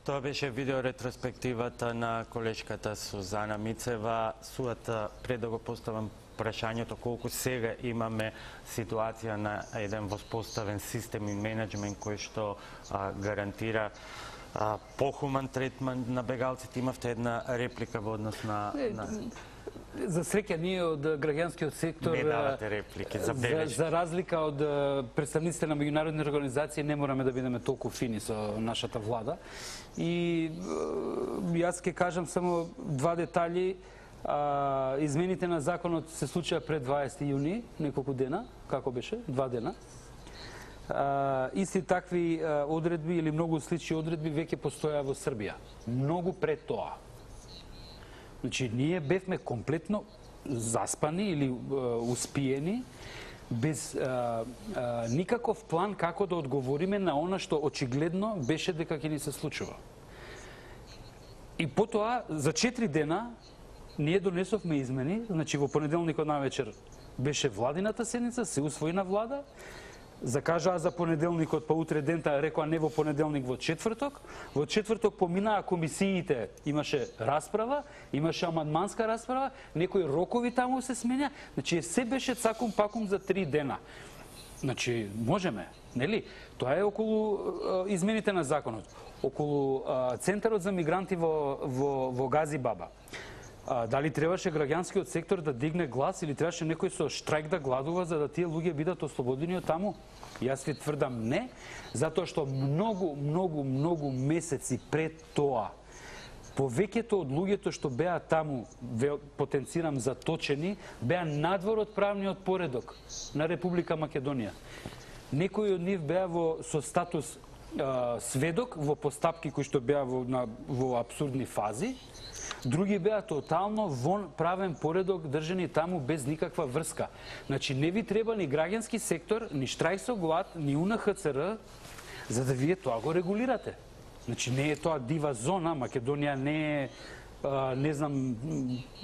Тоа беше видеоретроспективата на колешката Сузана Мицева. Суата пред да го поставам прашањето колку сега имаме ситуација на еден воспоставен систем и менеджмент кој што а, гарантира а, похуман третман на бегалците. Имавте една реплика во однос на... на... За среќа ние од граѓанскиот сектор не давате реплики, за, за разлика од представниците на меѓународни организации не мораме да бидеме толку фини со нашата влада. И јас ќе кажам само два детали. А, измените на законот се случија пред дваесети јуни, неколку дена, како беше? Два дена. А, исти такви а, одредби или многу слични одредби веќе постоја во Србија. Многу пред тоа. Значи, ние бевме комплетно заспани или а, успиени, без а, а, никаков план како да одговориме на она што очигледно беше дека ќе ни се случува. И потоа, за четири дена, ние донесовме измени, значи во понеделникот навечер беше владината седница, се усвоина влада, закажаа за понеделникот, па утре дента рекоа не во понеделник, во четврток. Во четврток поминаа комисиите, имаше расправа, имаше амандманска расправа, некои рокови таму се сменја, значи се беше цакум пакум за три дена. Значи, можеме, нели? Тоа е околу измените на законот. Околу а, Центарот за мигранти во, во, во Гази Баба. А, дали требаше граѓанскиот сектор да дигне глас или требаше некој со штрајк да гладува за да тие луѓе бидат ослободени од таму? Јас ви тврдам не, затоа што многу, многу, многу месеци пред тоа, повеќето од луѓето што беа таму, потенцирам заточени, беа надвор од правниот поредок на Република Македонија. Некои од нив беа во, со статус а, сведок во постапки кои што беа во, на, во абсурдни фази, други беа тотално вон правен поредок држани таму без никаква врска. Значи не ви треба ни граѓански сектор, ни штрајк со глад, ни У Н Х Ц Р, за да вие тоа го регулирате. Значи не е тоа дива зона, Македонија не е, а, не знам,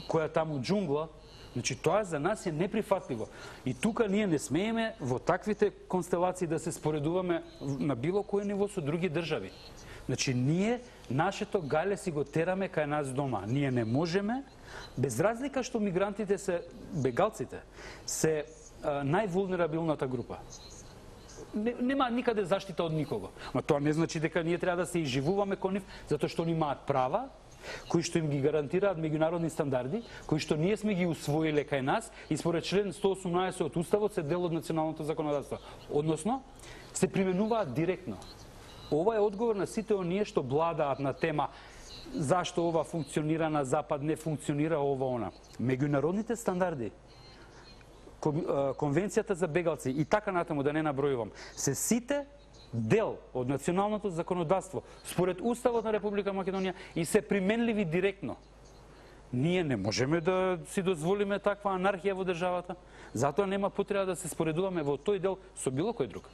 која таму џунгла. Значи тоа за нас е неприфатливо. И тука ние не смееме во таквите констелации да се споредуваме на било кој ниво со други држави. Значи ние нашето гале си го тераме кај нас дома. Ние не можеме, без разлика што мигрантите се, бегалците, се највулнерабилната група. Нема никаде заштита од никого. Ма тоа не значи дека ние треба да се изживуваме кон нив, затоа што они имаат права, кои што им ги гарантираат меѓународни стандарди, кои што ние сме ги усвоиле кај нас и според член сто осумнаесет од Уставот се дел од националното законодавство. Односно, се применуваат директно. Ова е одговор на сите оние што бладаат на тема зашто ова функционира на Запад, не функционира ова она. Меѓународните стандарди, Конвенцијата за бегалци и така натаму да не набројувам, се сите дел од националното законодавство според Уставот на Република Македонија и се применливи директно. Ние не можеме да си дозволиме таква анархија во државата, затоа нема потреба да се споредуваме во тој дел со било кој друг.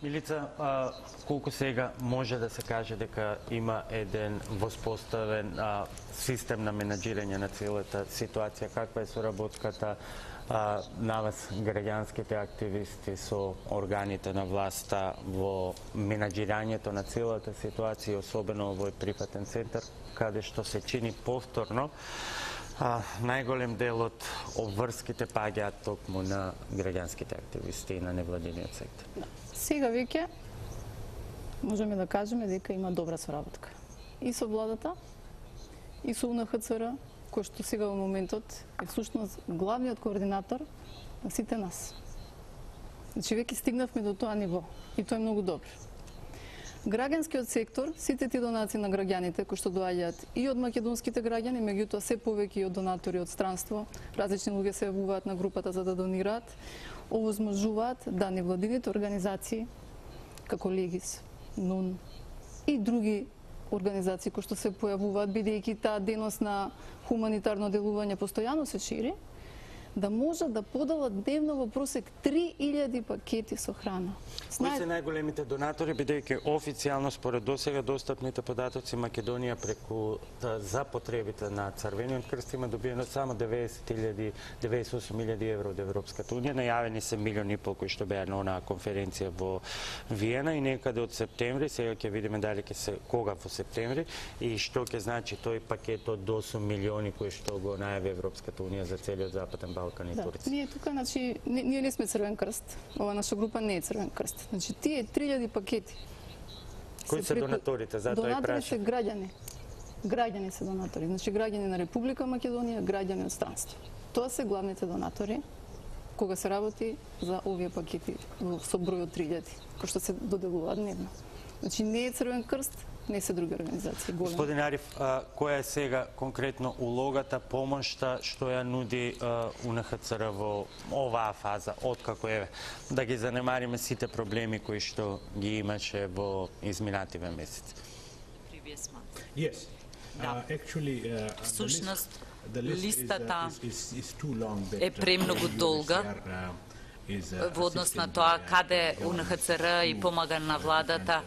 Милица, а, колку сега може да се каже дека има еден воспоставен а, систем на менаџирање на целата ситуација? Каква е соработката а, на вас, граѓанските активисти, со органите на власта во менаџирањето на целата ситуација, особено овој прифатен центар, каде што се чини повторно а, најголем дел од обврските паѓаат токму на граѓанските активисти и на невладиниот сектор? Сега веќе можеме да кажеме дека има добра соработка и со владата, и со У Н Х Ц Р, кој што сега во моментот е всушност главниот координатор на сите нас. Значи веќе стигнавме до тоа ниво и тоа е многу добро. Граѓанскиот сектор, сите ти донации на граѓаните кои што доаѓаат и од македонските граѓани, меѓутоа се повеќе и од донатори од странство, различни луѓе се јавуваат на групата за да донираат, овозможуваат да невладините организации како Легис, Н У Н и други организации кои што се појавуваат, бидејќи таа дејност на хуманитарно делување постојано се шири, да можат да поделат дневно во просек три илјади пакети со храна. Кои се најголемите донатори, бидејќи официјално според досега достапните податоци Македонија преку за потребите на Црвениот крст има добиено само деветдесет илјади, деветдесет и осум илјади евро од Европската унија, најавени се милион и пол кои што беа на онаа конференција во Виена и некаде од септември, сега ќе видиме дали ќе се кога во септември и што ќе значи тој пакет од осум милиони кои што го најави Европската унија за целиот западен Балкан и да, Турција. Ние тука, значи, не, ние не сме Црвен крст. Ова наша група не е Црвен крст. Значи, тие три илјади пакети. Кои се, се донаторите? Затоа и донатори прашам. се граѓани. Граѓани се донатори. Значи, граѓани на Република Македонија, граѓани од странство. Тоа се главните донатори кога се работи за овие пакети со број од три илјади, кои што се доделуваат дневно. Значи, не е Црвен крст, не се други организации. Голем. Господин Ариф, а, која е сега конкретно улогата, помошта што ја нуди а, У Н Х Ц Р во оваа фаза, откако е да ги занемариме сите проблеми кои што ги имаше во изминативе месеци? Yes. Uh, actually, uh, Всушност, the list, листата the list is, is, is too long that, е премногу долга во однос на тоа каде У Н Х Ц Р и помага на владата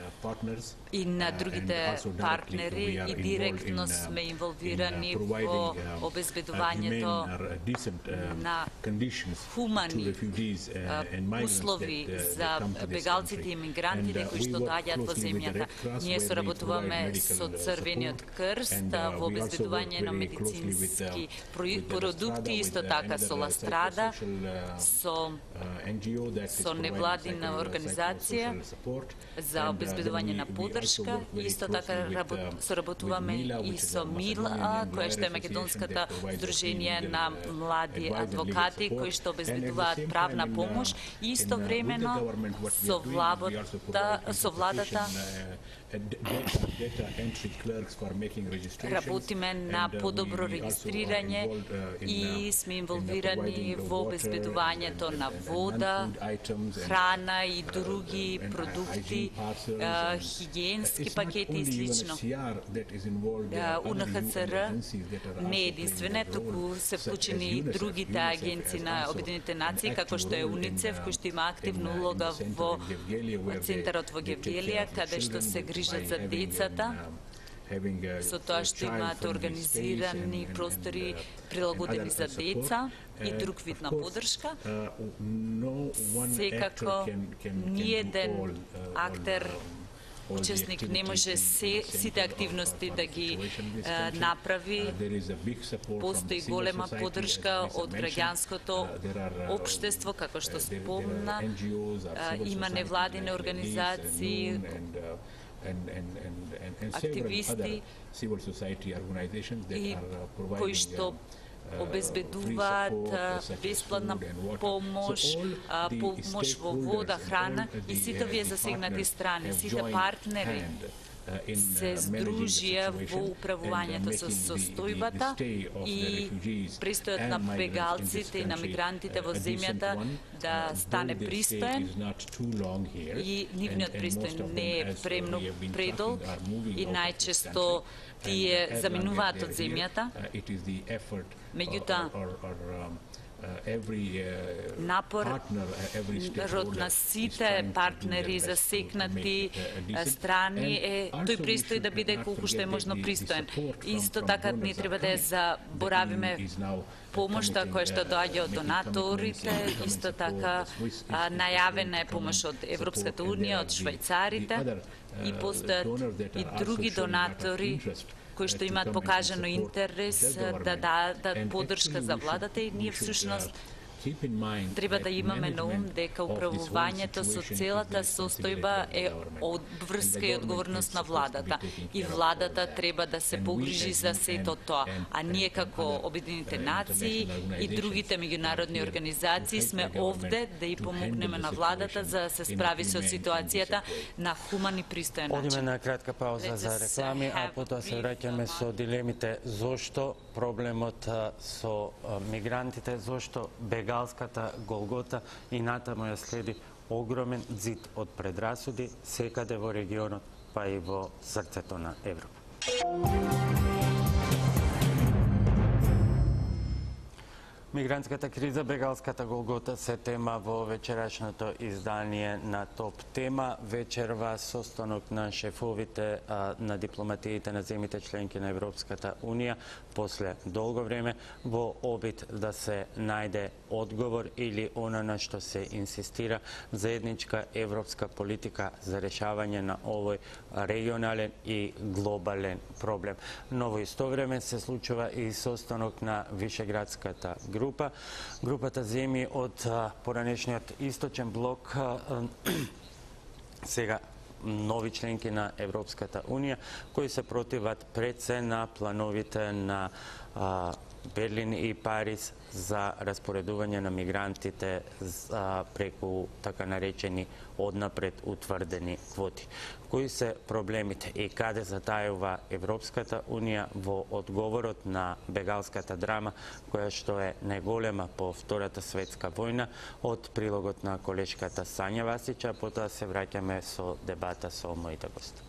и на другите партнери и директно сме инволвирани во обезбедувањето на хумани услови за бегалците и мигрантите кои што доаѓаат во земјата. Ние соработуваме со Црвениот крст во обезбедување на медицински продукти, исто така со Ластрада, со со невладина организација за обезбедување на поддршка. Исто така соработуваме и со МИЛА, која што е Македонската здружение на млади адвокати, кои што обезбедуваат правна помош. Истовремено со владата, со владата работиме на подобро регистрирање и сме инволвирани во обезбедувањето на вода, храна и други продукти, хигиенски пакети и слично. У Н Х Ц Р не е единствена, туку се вклучени и другите агенции на Обединетите нации, како што е УНИЦЕФ, кој што има активна улога во центарот во Гевгелија, каде што се грижат за децата, со тоа што имаат организирани простори прилагодени за деца и друг вид на поддршка. Секако ниеден актер учесник не може се, сите активности да ги е, направи. Постои голема поддршка од граѓанското општество, како што спомна. Има невладини организации, активисти и кои што обезбедуваат бесплатна помош, помош во вода, храна и сите овие засегнати страни, сите партнери се здружија во управувањето со состојбата и престојот на бегалците и на мигрантите во земјата да стане пристоен и нивниот престој не е премногу предолг и најчесто тие заминуваат од земјата. Меѓутоа, напор на сите партнери засекнати страни е тој престои да биде колку што е можно пристоен. Исто така не треба да ја заборавиме помошта која што доаѓа од донаторите, исто така најавена е помош од Европската унија, од швајцарите и постојат и други донатори кои што имаат покажано интерес да дадат поддршка за владата и ние всушност треба да имаме на ум дека управувањето со целата состојба е обврска и одговорност на владата. И владата треба да се погрижи за сето тоа. А ние како Обединените нации и другите меѓународни организации сме овде да и помогнеме на владата за да се справи со ситуацијата на хуман и пристоен начин. Одиме на кратка пауза за реклами, а потоа се враќаме со дилемите зошто проблемот со мигрантите, зошто бега Галската Голгота и натаму ја следи огромен зид од предрасуди секаде во регионот, па и во срцето на Европа. Мигрантската криза, бегалската Голгота се тема во вечерашното издание на Топ Тема. Вечерва состанок на шефовите а, на дипломатиите на земите членки на Европската Унија после долго време во обид да се најде одговор или она на што се инсистира заедничка европска политика за решавање на овој регионален и глобален проблем. Но во исто време се случува и состанок на Вишеградската група. Групата земји од поранешниот источен блок, сега нови членки на Европската Унија, кои се противат пред се на плановите на а, Берлин и Париз за распоредување на мигрантите за, преку така наречени однапред утврдени квоти. Кои се проблемите и каде затајува Европската Унија во одговорот на бегалската драма, која што е најголема по Втората светска војна, од прилогот на колешката Сања Васича, потоа се враќаме со дебата со моите гости.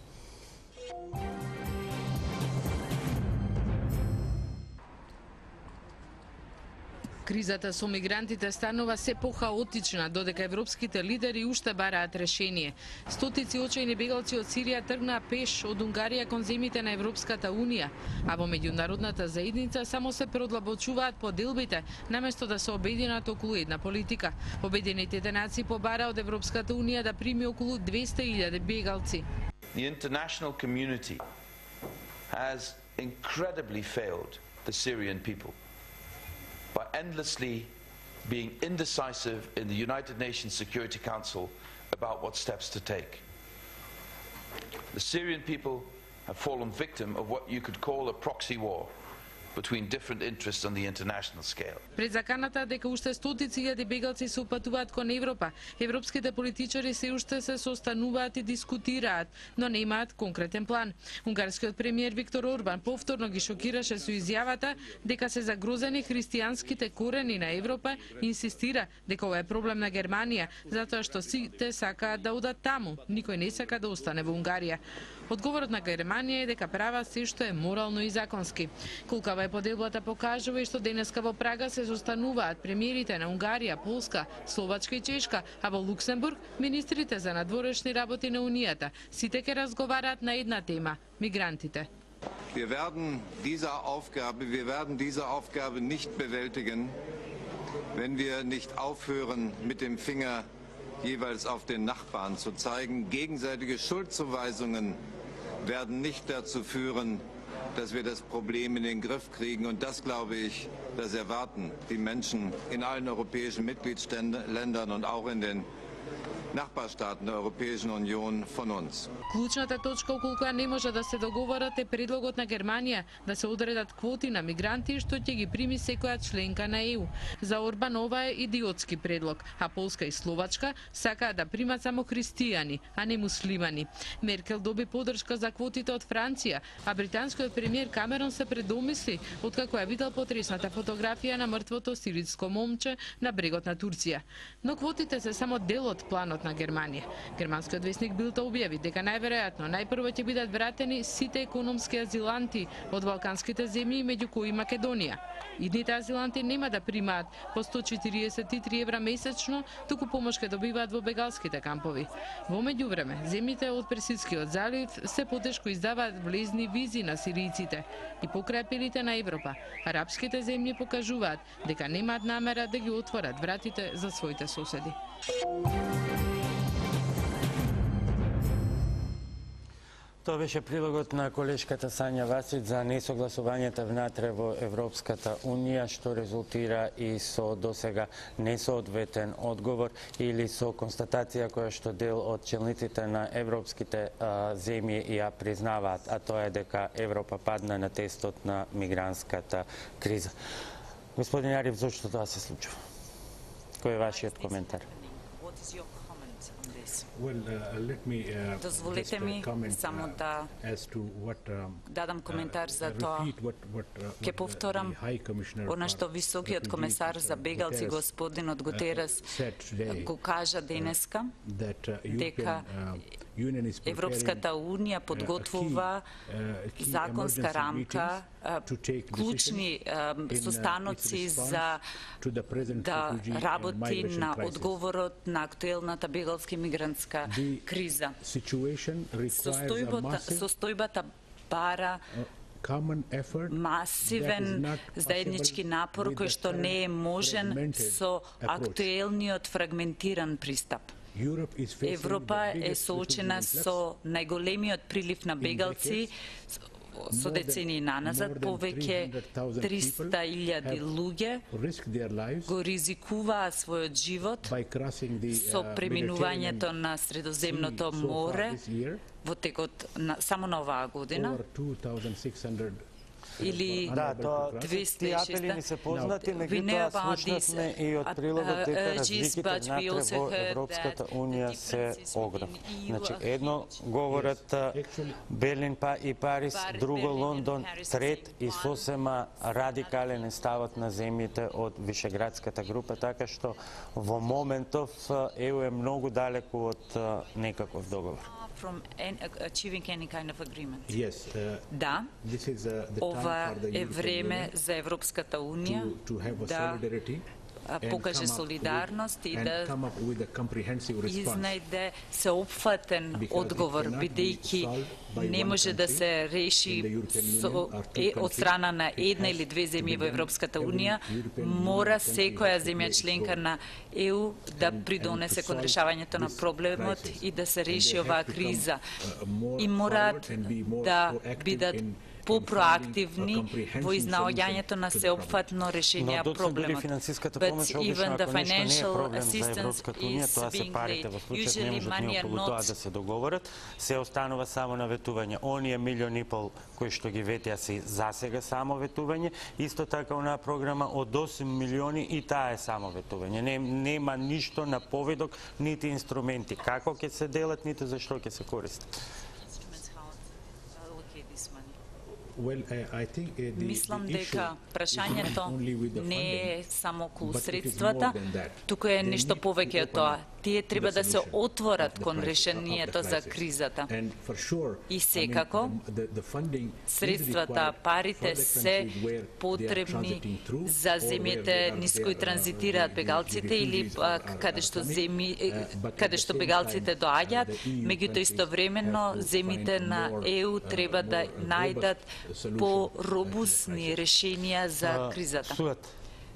Кризата со мигрантите станува се похаотична, додека европските лидери уште бараат решение. Стотици очајни бегалци од Сирија тргнаа пеш од Унгарија кон земите на Европската Унија, а во меѓународната заедница само се продлабочуваат поделбите, наместо да се обединат околу една политика. Обединетите нации побара од Европската Унија да прими околу двесте илјади бегалци. The international community has incredibly failed the Syrian people by endlessly being indecisive in the United Nations Security Council about what steps to take. The Syrian people have fallen victim of what you could call a proxy war between different interests on the international scale. Пред заканата дека уште стотици илјади бегалци се упатуваат кон Европа, европските политичари се уште се состануваат и дискутираат, но немаат конкретен план. Унгарскиот премиер Виктор Орбан повторно ги шокираше со изјавата дека се загрозени христијанските корени на Европа и инсистира дека ова е проблем на Германија, затоа што сите сакаат да одат таму, никој не сака да остане во Унгарија. Одговорот на Германија е дека права се што е морално и законски. Колкава е поделбата покажува и што денеска во Прага се состануваат премиерите на Унгарија, Полска, Словачка и Чешка, а во Луксембург министрите за надворешни работи на Унијата. Сите ќе разговараат на една тема – мигрантите. Wir werden diese Aufgabe, wir werden diese Aufgabe nicht bewältigen, wenn wir nicht aufhören, mit dem Finger jeweils auf den Nachbarn zu zeigen. Gegenseitige Schuldzuweisungen werden nicht dazu führen, dass wir das Problem in den Griff kriegen. Und das, glaube ich, das erwarten die Menschen in allen europäischen Mitgliedsländern und auch in den Nachbarstaaten der Europäischen Union von uns. Клучната точка околу која не може да се договорат е предлогот на Германија да се одредат квоти на мигранти што ќе ги прими секоја членка на Е У. За Орбан ова е идиотски предлог, а Полска и Словачка сакаат да примат само христијани, а не муслимани. Меркел доби поддршка за квотите од Франција, а британскиот премиер Камерон се предомисли откако ја видел потресната фотографија на мртвото сириско момче на брегот на Турција. Но квотите се само дел од планот. Северот на Германија. Германскиот весник Билд објави дека најверојатно најпрво ќе бидат вратени сите економски азиланти од балканските земји, меѓу кои Македонија. Идните азиланти нема да примаат по сто четириесет и три евра месечно, туку помош ќе добиваат во бегалските кампови. Во меѓувреме, земјите од Персидскиот залив се потешко издаваат влезни визи на сиријците и покрај апелите на Европа, арапските земји покажуваат дека немаат намера да ги отворат вратите за своите соседи. Тоа беше прилогот на колешката Сања Васич за несогласувањата внатре во Европската Унија, што резултира и со досега несоодветен одговор или со констатација која што дел од челниците на европските а, земји ја признаваат, а тоа е дека Европа падна на тестот на мигрантската криза. Господин Ариф, зошто тоа се случува? Кој е вашиот коментар? Well, uh, let me, uh, Дозволете ми само да дадам коментар за тоа. Ке повторам она што високиот комесар за бегалци господинот Гутерес го кажа денеска, дека Европската Унија подготвува законска рамка, клучни состаноци за да работи на одговорот на актуелната бегалски мигрантска криза. Состојбата, состојбата бара масивен заеднички напор кој што не е можен со актуелниот фрагментиран пристап. Европа е соочена со најголемиот прилив на бегалци со децении наназад. Повеќе триста илјади луѓе го ризикуваа својот живот со преминувањето на Средоземното море во текот на, само на оваа година. Или да, тоа тие апели ни се познати, меѓутоа слушнавме и од прилогот дека разликите внатре во Европската Унија се огромни. Значи, едно говорат Берлин па и Париз, друго Лондон, трет и сосема радикален е ставот на земјите од Вишеградската група, така што во моментов Е У е многу далеку од некаков договор. From achieving any kind of agreement. Yes, uh, да, this is, uh, the ова е време за Европската Унија да покаже солидарност и да изнајде сеопфатен одговор, бидејќи не може да се реши со, е, од страна на една или две земји во Европската Унија, мора секоја земја членка на Е У да придонесе кон решавањето на проблемот и да се реши оваа криза. И мораат да бидат по-проактивни во изнаоѓањето на сеопфатно решение на проблемот. But even the financial assistance is being late. Usually money are not... да се договорат, се останува само на ветување. Оние милион и пол кои што ги ветија се засега само ветување, исто така онаа програма од осум милиони и таа е само ветување. Не, нема ништо на поведок, нити инструменти како ќе се делат, нити за што ќе се користат. Well, I think, uh, the, Мислам the дека прашањето не е само околу средствата, туку е нешто повеќе од тоа. Тие треба да се отворат кон решението за кризата. И секако, средствата, парите се потребни за земјите низ кои транзитираат бегалците или каде што земи, каде што бегалците доаѓаат, меѓутоа истовремено земјите на Е У треба да најдат по-робусни решенија за кризата. Суат.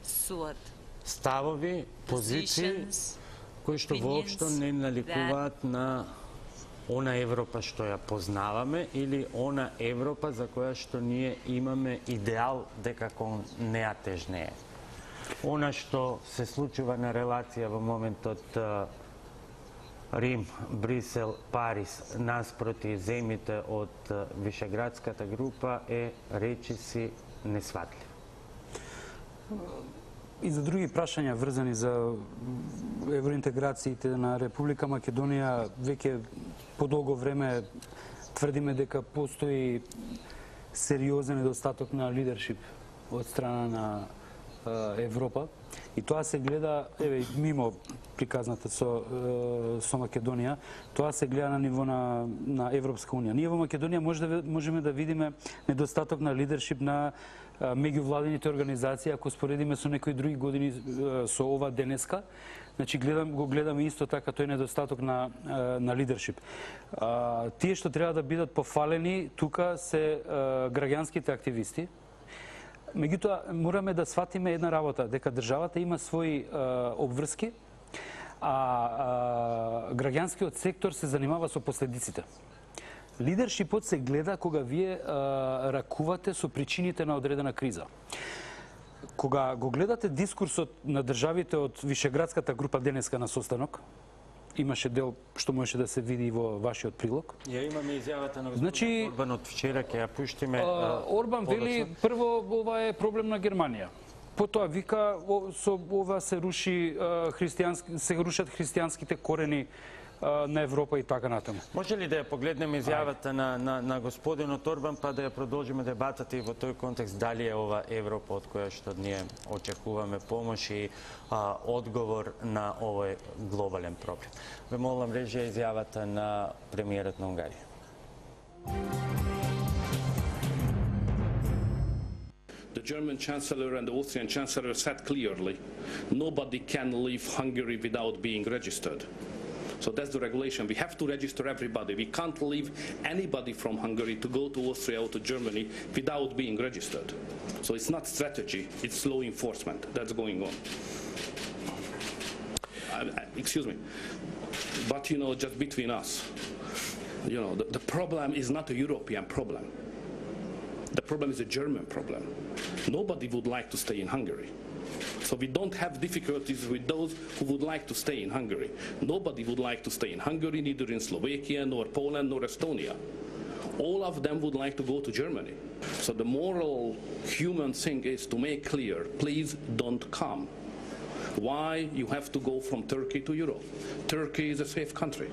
Суат. Ставови, позиции, кои што воопшто не наликуваат на она Европа што ја познаваме или она Европа за која што ние имаме идеал дека кон неа тежнее. Она што се случува на релација во моментот Рим, Брисел, Париз, наспроти земјите од Вишеградската група е речиси несватлив. И за други прашања врзани за евроинтеграциите на Република Македонија, веќе подолго време тврдиме дека постои сериозен недостаток на лидершип од страна на Европа и тоа се гледа, еве, мимо приказната со со Македонија, тоа се гледа на ниво на на Европска унија. Ние во Македонија може да можеме да видиме недостаток на лидершип на меѓувладините организации, ако споредиме со некои други години со ова денеска. Значи гледам го гледаме исто така тој недостаток на на лидершип. Тие што треба да бидат пофалени тука се граѓанските активисти. Меѓутоа мораме да сватиме една работа, дека државата има своји обврски, а, а граѓанскиот сектор се занимава со последиците. Лидершипот се гледа кога вие а, ракувате со причините на одредена криза. Кога го гледате дискурсот на државите од Вишеградската група денеска на состанок, имаше дел што можеше да се види во вашиот прилог. Ја имаме изјавата на господин Значи, Орбан од вчера, ќе ја пуштиме. А, Орбан вели прво ова е проблем на Германија. Потоа вика о, со ова се руши христијански се рушат христијанските корени на Европа и така натаму. Може ли да ја погледнеме изјавата на, на, на господинот Орбан, па да ја продолжиме дебатата и во тој контекст дали е ова Европа од која што ние очекуваме помош и а, одговор на овој глобален проблем. Ве молам режија изјавата на премиерот на Унгарија. The German Chancellor and the Austrian Chancellor said clearly, nobody can leave Hungary without being registered. So that's the regulation. We have to register everybody. We can't leave anybody from Hungary to go to Austria or to Germany without being registered. So it's not strategy, it's law enforcement that's going on. Uh, excuse me. But, you know, just between us, you know, the, the problem is not a European problem. The problem is a German problem. Nobody would like to stay in Hungary. So we don't have difficulties with those who would like to stay in Hungary. Nobody would like to stay in Hungary, neither in Slovakia, nor Poland, nor Estonia. All of them would like to go to Germany. So the moral human thing is to make clear, please don't come. Why you have to go from Turkey to Europe? Turkey is a safe country.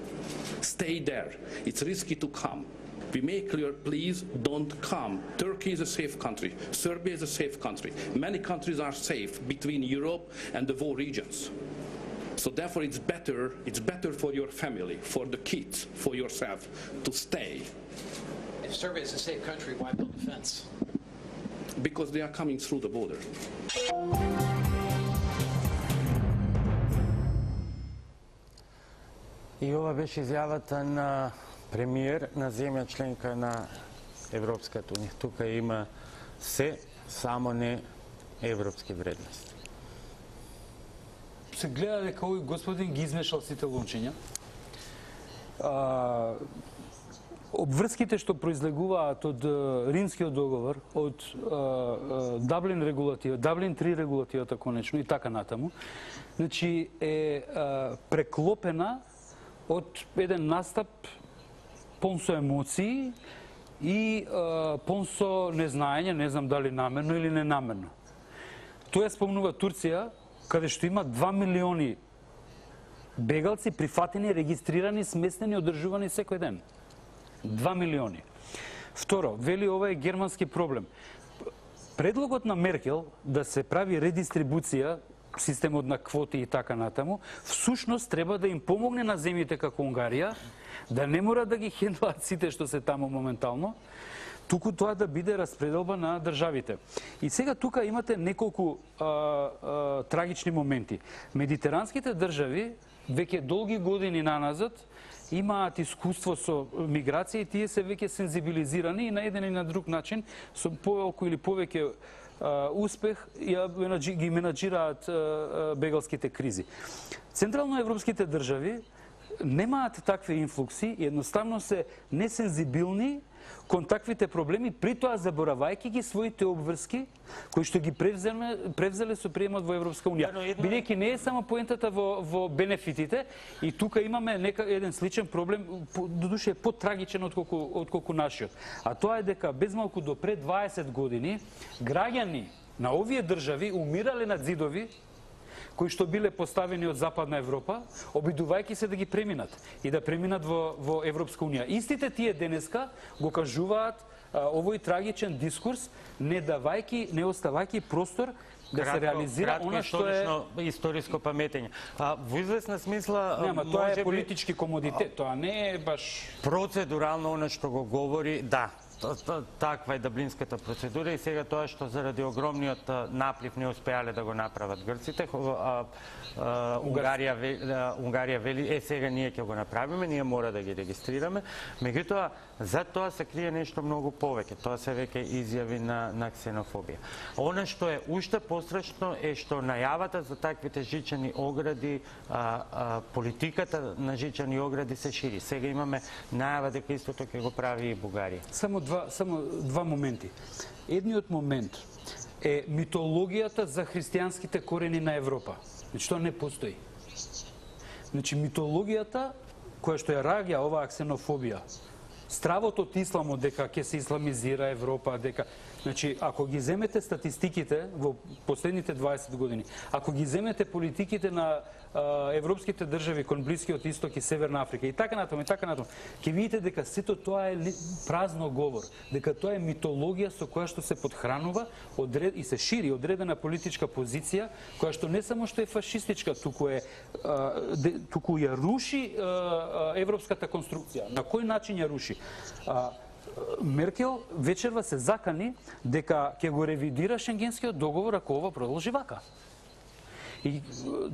Stay there. It's risky to come. We make clear, please don't come. Turkey is a safe country. Serbia is a safe country. Many countries are safe between Europe and the war regions. So therefore it's better, it's better for your family, for the kids, for yourself to stay. If Serbia is a safe country, why build a fence? Because they are coming through the border. И ова беше изјавата на премиер на земја членка на Европската унија. Тука има се, само не европски вредности. Се гледа дека овој господин ги измешал сите лончиња. А, обврските што произлегуваат од Римскиот договор, од а, Даблин регулатива, Даблин три регулативата конечно и така натаму, значи е а, преклопена од еден настап пон со емоции и а, пон со незнаење, не знам дали намерно или ненамерно. Тоа спомнува Турција, каде што има два милиони бегалци прифатени, регистрирани, сместени, одржувани секој ден. два милиони. Второ, вели ова е германски проблем. Предлогот на Меркел да се прави редистрибуција, системот на квоти и така натаму, всушност треба да им помогне на земјите како Унгарија, да не мора да ги хендлаат сите што се таму моментално, туку тоа да биде распределба на државите. И сега тука имате неколку а, а, трагични моменти. Медитеранските држави веќе долги години наназад имаат искуство со миграција и тие се веќе сензибилизирани и на еден и на друг начин со поелку или повеќе Uh, успех ја ги менаџираат uh, бегалските кризи. Централноевропските држави немаат такви инфлукси и едноставно се несензибилни кон таквите проблеми, при тоа заборавајќи ги своите обврски кои што ги превзеле, превзеле со приемот во Европска унија. Бидејќи не е само поентата во, во бенефитите и тука имаме нека еден сличен проблем, додуше е потрагичен отколку, отколку нашиот. А тоа е дека безмалку до пред дваесет години граѓани на овие држави умирале на зидови кои што биле поставени од Западна Европа, обидувајќи се да ги преминат и да преминат во, во Европска унија. Истите тие денеска го кажуваат овој трагичен дискурс, не давајки, не оставајки простор да се реализира она што е историско паметење. А во известна смисла нема, тоа е политички комодитет, тоа не е баш процедурално она што го говори, да. Таква е даблинската процедура и сега тоа што заради огромниот наплив не успеале да го направат грците, Унгарија Унгарија вели е сега ние ќе го направиме, ние мора да ги регистрираме. Меѓутоа за тоа се крие нешто многу повеќе. Тоа се веќе изјави на на ксенофобија. Она што е уште пострашно е што најавата за таквите жичени огради, а, а, политиката на жичени огради се шири. Сега имаме најава дека истото ќе го прави и Бугарија. Само два само два моменти. Едниот момент е митологијата за христијанските корени на Европа. Значи, тоа не постои. Значи, митологијата која што ја раѓа оваа ксенофобија, стравот од исламот дека ќе се исламизира Европа, дека значи ако ги земете статистиките во последните дваесет години, ако ги земете политиките на а, европските држави кон Блискиот Исток и Северна Африка и така натаму и така натаму, ќе видите дека сето тоа е празно говор, дека тоа е митологија со која што се подхранува одред и се шири одредена политичка позиција која што не само што е фашистичка, туку е а, де, туку ја руши а, а, европската конструкција. На кој начин ја руши? А, Меркел вечерва се закани дека ќе го ревидира Шенгенскиот договор ако ова продолжи вака. И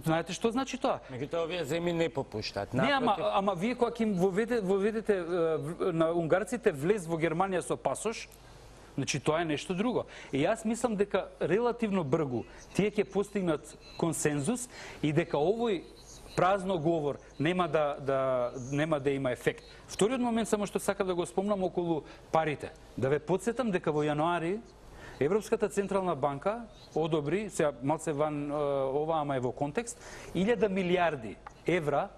знаете што значи тоа? Меѓутоа овие земји не попуштаат. Не, ама, ама вие кога ќе воведете, воведете на унгарците влез во Германија со пасош, значи тоа е нешто друго. И јас мислам дека релативно бргу тие ќе постигнат консензус и дека овој празно говор нема да, да, нема да има ефект. Вториот момент само што сакам да го спомнам околу парите. Да ве подсетам дека во јануари Европската централна банка одобри, сега малце ван ова, ама е во контекст, илјада милиарди евра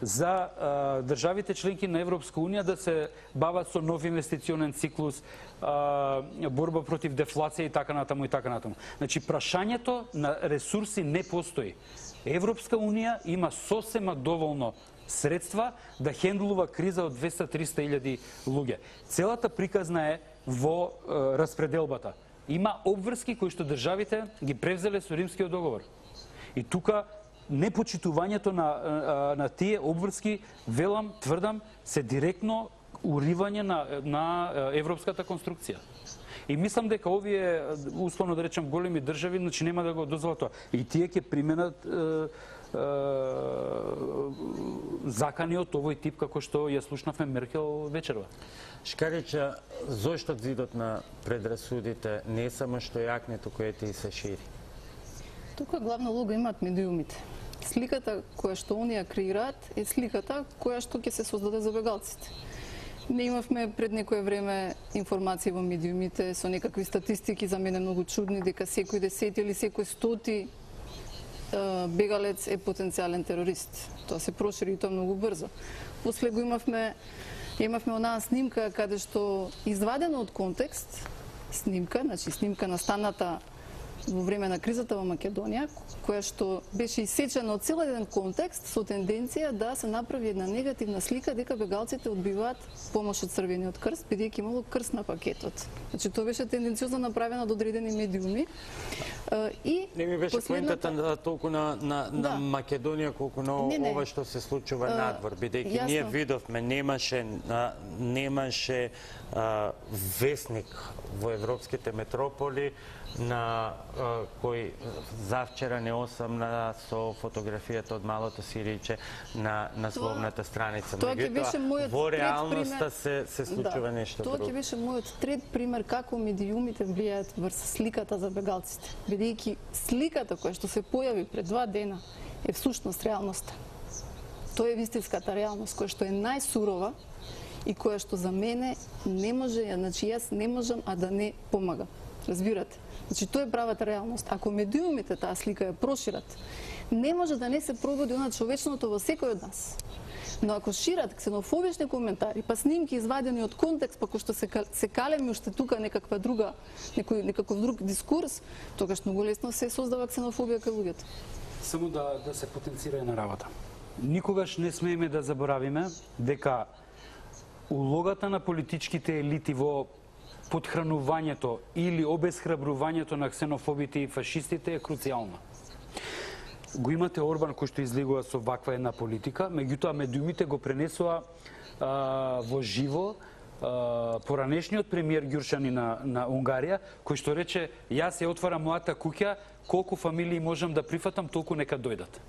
за а, државите членки на Европска унија да се бават со нов инвестиционен циклус, а, борба против дефлација и така натаму и така натаму. Значи прашањето на ресурси не постои. Европска унија има сосема доволно средства да хендлува криза од двеста до триста илјади луѓе. Целата приказна е во е, распределбата. Има обврски кои што државите ги превзеле со Римскиот договор. И тука непочитувањето на, на тие обврски, велам, тврдам, се директно уривање на, на европската конструкција. И мислам дека овие, условно да речем, големи држави, значи нема да го дозволат тоа. И тие ќе применат е, е, закани од овој тип, како што ја слушнавме Меркел вечерва. Шкарича, зошто зидот на предрасудите не само што јакне, туку ете и се шири? Тука главна улога имаат медиумите. Сликата која што они ја креираат е сликата која што ќе се создаде за бегалците. Не имавме пред некое време информации во медиумите со некакви статистики, за мене многу чудни, дека секој десети или секој стоти бегалец е потенцијален терорист. Тоа се прошири и тоа многу брзо. После го имавме имавме онаа снимка каде што извадено од контекст снимка, значи снимка настаната во време на кризата во Македонија, која што беше исечена од цел еден контекст со тенденција да се направи една негативна слика дека бегалците одбиваат помош од Црвениот крст, бидејќи имало крст на пакетот. Значи тоа беше тенденциозно направено од одредени медиуми. И не ми беше последната... поентата толку на, на, на да. Македонија колку на не, не. ова што се случува а, надвор, бидејќи ние видовме немаше немаше а, весник во европските метрополи на а, кој завчера не осамна со фотографијата од малото сириче на насловната страница. Тоа ќе беше мојот во реалноста се се случува да, нешто тоа друго. Тоа ќе беше мојот трет пример како медиумите влијаат врз сликата за бегалците. Бидејќи сликата која што се појави пред два дена е всушност реалноста. Тоа е вистинската реалност која што е најсурова и која што за мене не може, значи јас не можам а да не помагам. Разбирате? Значи, тоа е правата реалност. Ако медиумите таа слика ја прошират, не може да не се пробуди она човечното во секој од нас. Но ако шират ксенофобични коментари, па снимки извадени од контекст, па кој што се, се калеми уште тука некаква друга, некој, некаков друг дискурс, тогаш многу лесно се создава ксенофобија кај луѓето. Само да, да се потенцира една работа. Никогаш не смееме да заборавиме дека улогата на политичките елити во подхранувањето или обесхрабрувањето на ксенофобите и фашистите е круцијална. Го имате Орбан кој што излегува со ваква една политика, меѓутоа медиумите го пренесува а, во живо а, поранешниот премиер Ѓурчани на, на Унгарија, кој што рече, јас ја отварам мојата куќа, колку фамилии можам да прифатам, толку нека дојдат.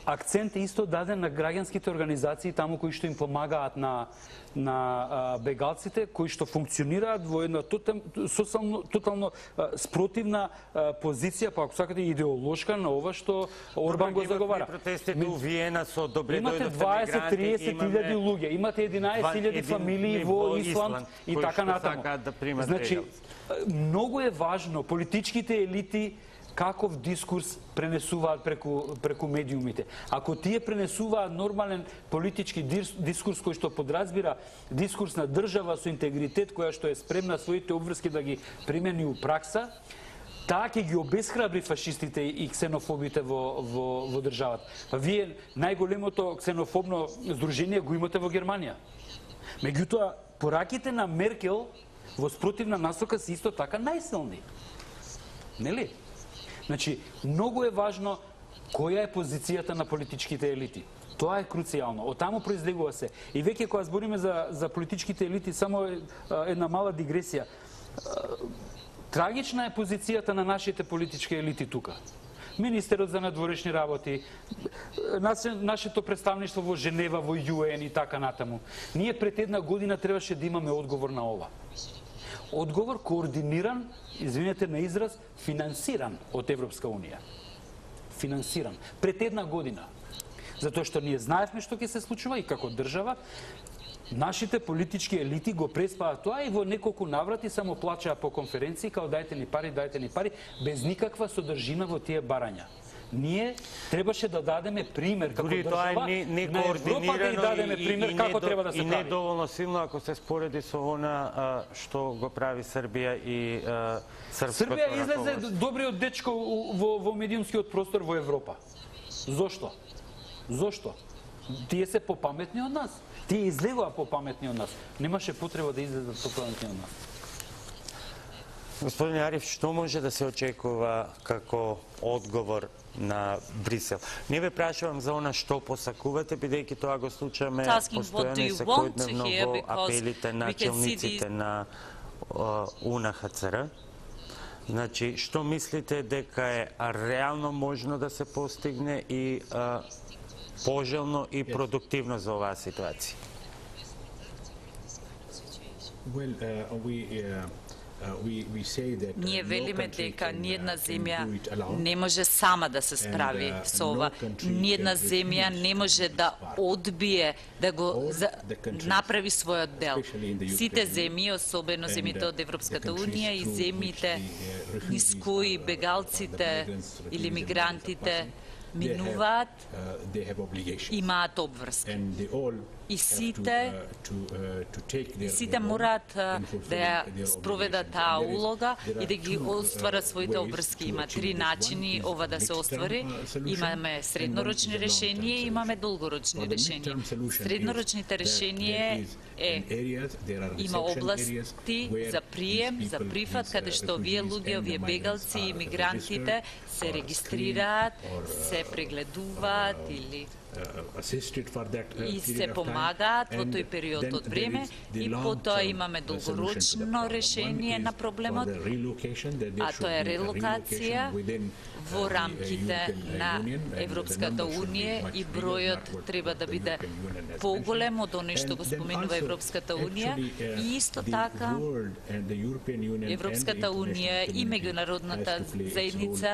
Акцент е исто даден на граѓанските организации таму кои што им помагаат на на а, бегалците, кои што функционираат во една тотално, тотално а, спротивна а, позиција, па ако сакате идеолошка на ова што Орбан го заговара. Протестите у Виена со добре имате дваесет до триесет илјади луѓе, имате единаесет илјади фамилии во Исланд и така натаму. Значи, многу е важно политичките елити каков дискурс пренесуваат преку, преку медиумите. Ако тие пренесуваат нормален политички дискурс кој што подразбира дискурс на држава со интегритет, која што е спремна своите обврски да ги примени у пракса, таа ќе ги обесхрабри фашистите и ксенофобите во, во, во државата. Па вие најголемото ксенофобно здружение го имате во Германија. Меѓутоа, пораките на Меркел во спротивна насока се исто така најсилни. Нели? Значи, многу е важно која е позицијата на политичките елити. Тоа е круцијално. Од таму произлегува се. И веќе кога збориме за, за политичките елити, само една мала дигресија. Трагична е позицијата на нашите политички елити тука. Министерот за надворешни работи, нашето представништво во Женева, во Ю Ен и така натаму. Ние пред една година требаше да имаме одговор на ова. Одговор координиран, извинете на израз, финансиран од Европска Унија. Финансиран. Пред една година. Затоа што ние знаевме што ќе се случува и како држава, нашите политички елити го преспаат тоа и во неколку наврати само плачаа по конференции, као дајте ни пари, дајте ни пари, без никаква содржина во тие барања. Ние требаше да дадеме пример како држава не, не на Европа, да и дадеме пример и, и како не, треба да се и прави. И не доволно силно ако се спореди со она а, што го прави Србија и а, српското Србија излезе раководство. добриот дечко во, во медиумскиот простор во Европа. Зошто? Зошто? Тие се попаметни од нас. Тие излегува попаметни од нас. Немаше потреба да излезат попаметни од нас. Господин Ариф, што може да се очекува како одговор на Брисел? Не ве прашувам за она што посакувате, бидејќи тоа го случаме постојано и секојдневно во апелите на челниците на У Н Х Ц Р. Значи, што мислите дека е реално можно да се постигне и а, пожелно и продуктивно за оваа ситуација? Well, uh, we, uh... Ние велиме дека ниедна земја не може сама да се справи со ова. Ниедна земја не може да одбие да го за... направи својот дел. Сите земји, особено земјите од Европската Унија и земјите низ кои бегалците или мигрантите минуваат, имаат обврска. И сите, и сите мораат да ја спроведат таа улога и да ги остварат своите обврски. Има три начини ова да се оствари. Имаме среднорочни решенија и имаме долгорочни решенија. Среднорочните решенија е има области за прием, за прифат, каде што овие луѓе, овие бегалци и мигрантите се регистрираат, се прегледуваат или и се помагаат во тој период од време и потоа имаме долгорочно решение на проблемот, а тоа е релокација во рамките на Европската Унија и бројот треба да биде поголем од оној што го споменува Европската Унија и исто така Европската Унија и меѓународната заедница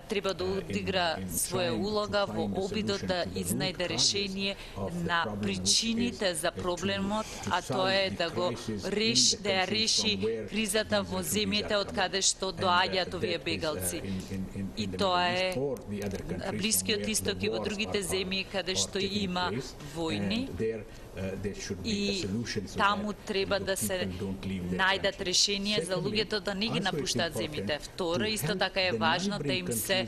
треба да одигра своја улога во обидот да изнајде решение на причините за проблемот, а тоа е да го реши, да ја реши кризата во земјите од каде што доаѓаат овие бегалци. И тоа е Блискиот Исток и во другите земји каде што има војни. И таму треба да се најдат решенија за луѓето да не ги напуштаат земјите. Второ, исто така е важно да им се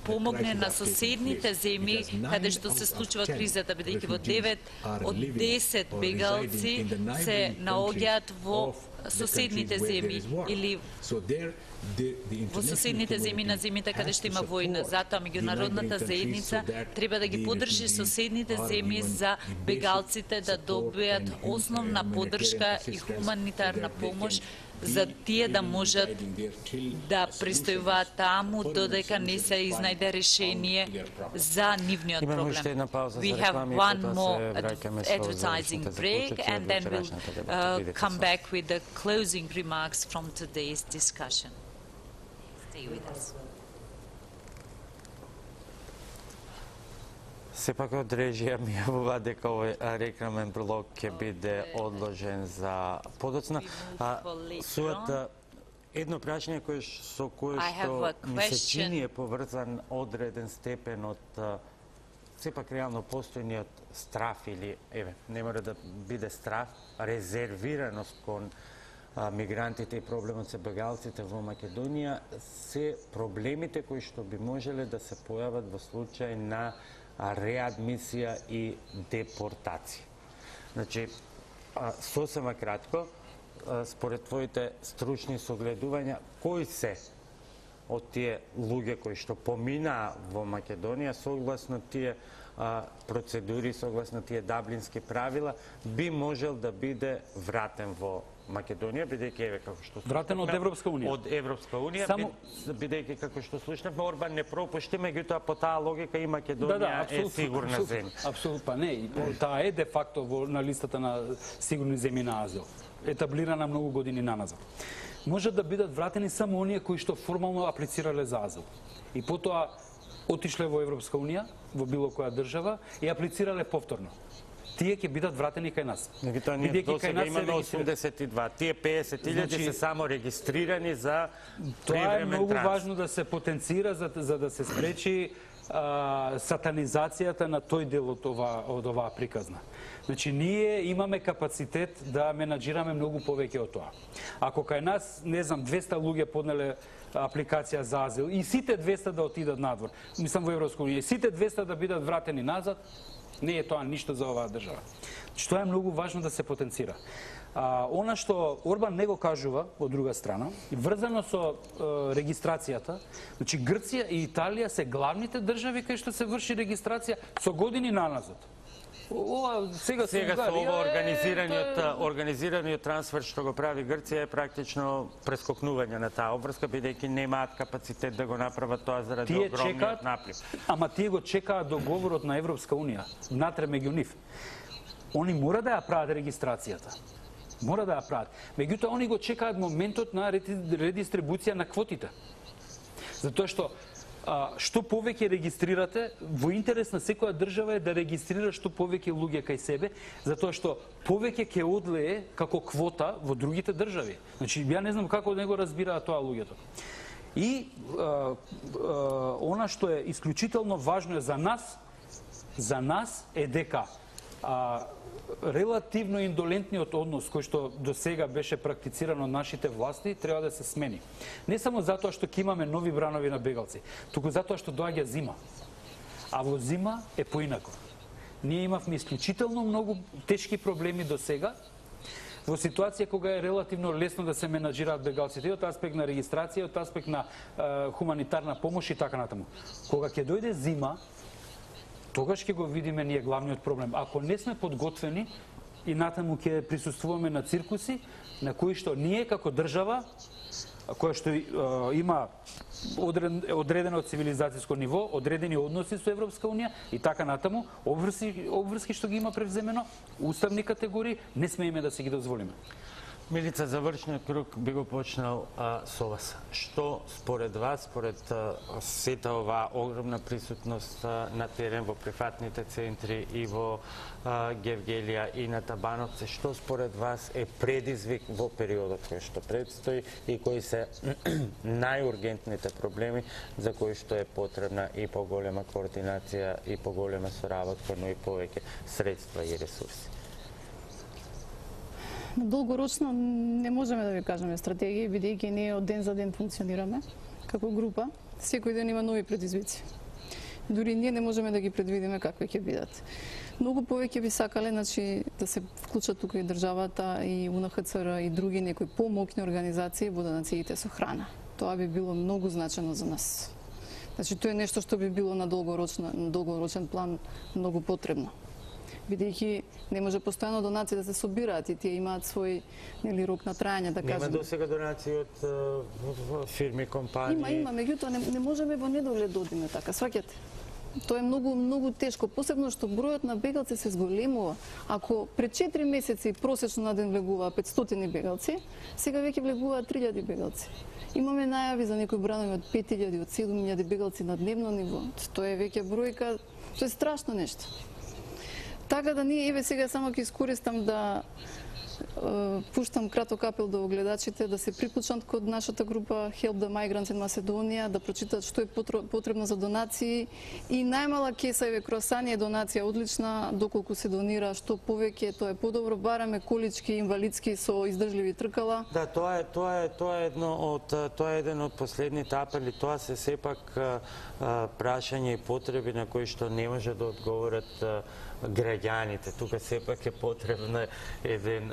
помогне на соседните земји каде што се случува кризата, бидејќи во девет од десет бегалци се наоѓаат во соседните земји или во соседните земји на земјите каде што има војна. Затоа меѓународната заедница треба да ги поддржи соседните земји за бегалците да добијат основна поддршка и хуманитарна помош за тие да можат да престојуваат таму додека не се изнајде решение за нивниот проблем. We have one more advertising break and then we'll uh, come back with the closing remarks from today's discussion. Stay with us. Сепак од режија ми јавува дека овој рекламен блок ќе биде одложен за подоцна. Суата едно прашање кое со кое што ми се чини е поврзан одреден степен од сепак реално постојниот страф или еве не мора да биде страф, резервираност кон мигрантите и проблемот со бегалците во Македонија се проблемите кои што би можеле да се појават во случај на реадмисија и депортација. Значи, сосема кратко, според твоите стручни согледувања, кои се од тие луѓе кои што поминаа во Македонија согласно тие процедури, согласно тие даблински правила, би можел да биде вратен во Македонија, бидејќи еве како што вратен од Европска унија. Од Европска унија, Само... бидејќи како што слушнавме, Орбан не пропушти, меѓутоа по таа логика и Македонија да, да, е сигурна земја. Апсолутно, не, таа е де факто во на листата на сигурни земји на азил, етаблирана многу години наназад. Можат да бидат вратени само оние кои што формално аплицирале за азил. И потоа отишле во Европска унија, во било која држава и аплицирале повторно. Тие ќе бидат вратени кај нас. Меѓутоа ние досега имаме осумдесет и два. Тие пеесет илјади се само регистрирани за привремен транзит. Тоа е многу важно да се потенцира за, за да се спречи а, сатанизацијата на тој дел од ова, од оваа приказна. Значи, ние имаме капацитет да менаџираме многу повеќе од тоа. Ако кај нас, не знам, двеста луѓе поднеле апликација за азил и сите двеста да отидат надвор, мислам во Европска унија, сите двеста да бидат вратени назад, не е тоа ништо за оваа држава. Значи, тоа е многу важно да се потенцира. А, она што Орбан не го кажува, од друга страна, врзано со е, регистрацијата, значи Грција и Италија се главните држави кај што се врши регистрација со години наназад. Ова сега, сега со ова организираниот е... организираниот трансфер што го прави Грција е практично прескокнување на таа обврска, бидејќи немаат капацитет да го направат тоа заради тие огромниот чекаат, наплив. Ама тие го чекаат договорот на Европска унија, внатре меѓу нив. Они мора да ја прават регистрацијата. Мора да ја прават. Меѓутоа они го чекаат моментот на редистрибуција на квотите. Затоа што А, што повеќе регистрирате, во интерес на секоја држава е да регистрира што повеќе луѓе кај себе, затоа што повеќе ќе одлее како квота во другите држави. Значи, ја не знам како него разбираат тоа луѓето. И а, а, она што е исклучително важно е за нас, за нас е дека а, релативно индолентниот однос кој што до сега беше практициран од нашите власти треба да се смени. Не само затоа што ќе имаме нови бранови на бегалци, туку затоа што доаѓа зима. А во зима е поинако. Ние имавме исклучително многу тешки проблеми до сега, во ситуација кога е релативно лесно да се менаџираат бегалците, од аспект на регистрација, од аспект на е, хуманитарна помош и така натаму. Кога ќе дојде зима, тогаш ќе го видиме ние главниот проблем. Ако не сме подготвени и натаму ќе присуствуваме на циркуси, на кои што ние како држава, која што е, има одредено цивилизацијско ниво, одредени односи со Европска унија и така натаму, обврски, обврски што ги има превземено, уставни категории, не смееме да си ги дозволиме. Милица, завршниот круг би го почнал а, со вас. Што според вас, според а, сета оваа огромна присутност а, на терен во прифатните центри и во а, Гевгелија и на Табановце, што според вас е предизвик во периодот кој што предстои и кои се најургентните проблеми за кои што е потребна и поголема координација и поголема соработка, но и повеќе средства и ресурси? Долгорочно не можеме да ви кажеме стратегија, бидејќи ние од ден за ден функционираме како група. Секој ден има нови предизвици. Дури ние не можеме да ги предвидиме какви ќе бидат. Многу повеќе би сакале, значи, да се вклучат тука и државата, и У Н Х Ц Р, и други некои помоќни организации во донациите со храна. Тоа би било многу значено за нас. Значи, тоа е нешто што би било на долгорочен, на долгорочен план многу потребно. Бидејќи не може постојано донации да се собираат и тие имаат свој, нели, рок на трајање, да кажеме. Нема досега донации од фирми, компании? Има, има, меѓутоа не, не можеме во недоглед да одиме така, сваќате? Тоа е многу, многу тешко, посебно што бројот на бегалци се зголемува. Ако пред четири месеци просечно на ден влегуваа петстотини бегалци, сега веќе влегуваат три илјади бегалци. Имаме најави за некои бранови од пет илјади, од седум илјади бегалци на дневно ниво. Тоа е веќе бројка, тоа е страшно нешто. Така да ние, еве сега само ќе искористам да е, пуштам краток апел до гледачите да се приклучат код нашата група Help the Migrants in Macedonia, да прочитат што е потребно за донации и најмала кеса, еве круасани е донација одлична, доколку се донира што повеќе, тоа е подобро, бараме колички инвалидски со издржливи тркала. Да, тоа е тоа е тоа е едно од тоа е еден од последните апели, тоа се сепак а, а, прашања и потреби на кои што не може да одговорат а, граѓаните. Тука сепак е потребна еден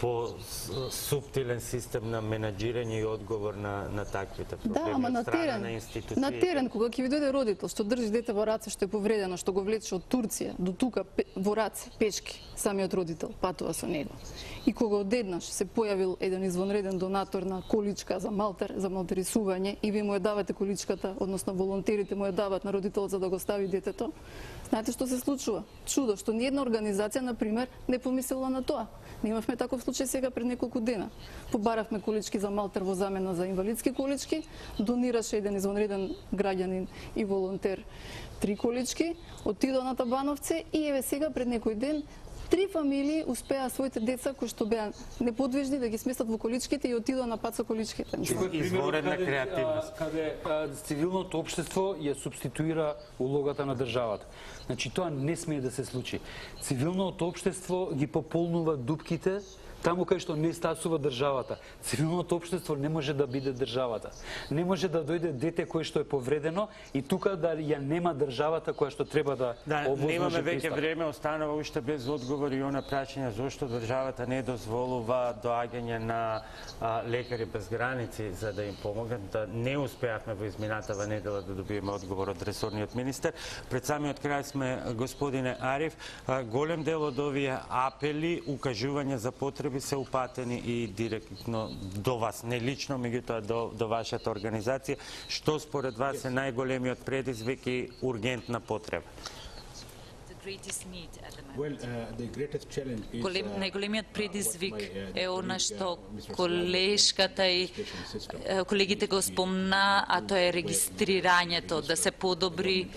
по-субтилен систем на менаџирање и одговор на, на таквите проблеми. Да, ама на терен, на, на терен, кога ќе ви дојде родител, што држи дете во раце, што е повредено, што го влече од Турција до тука во раце, пешки, самиот родител патува со него. И кога одеднаш се појавил еден извонреден донатор на количка за малтер, за малтерисување, и ви му ја давате количката, односно волонтерите му ја дават на родителот за да го стави детето, знаете што се случува? Чудо, што ни една организација, например, не помислила на тоа. Ние имавме таков случај сега пред неколку дена. Побаравме колички за малтер во замена за инвалидски колички, донираше еден извонреден граѓанин и волонтер три колички, отидоа на Табановце и еве сега пред некој ден три фамилии успеа своите деца кои што беа неподвижни да ги сместат во количките и отидоа на пат со количките. Изворена креативност. Каде цивилното општество ја субституира улогата на државата. Значи тоа не смее да се случи. Цивилното општество ги пополнува дупките таму кај што не стасува државата. Цивилното општество не може да биде државата. Не може да дојде дете кое што е повредено и тука да ја нема државата која што треба да да, овозможи немаме веќе пристап. време, останува уште без одговор и она прашање зошто државата не дозволува доаѓање на а, лекари без граници за да им помогнат. Да не успеавме во изминатава недела да добиеме одговор од ресорниот министер. Пред самиот крај сме, господине Ариф, а, голем дел од овие апели, укажувања за потреби се упатени и директно до вас, не лично, меѓутоа до, до вашата организација. Што според вас е најголемиот предизвик и ургентна потреба? Well, uh, the greatest challenge is, Голем, uh, најголемиот предизвик what my, uh, е она colleague, што uh, колешката и е, колегите го спомна, а тоа е регистрирањето, да се подобри,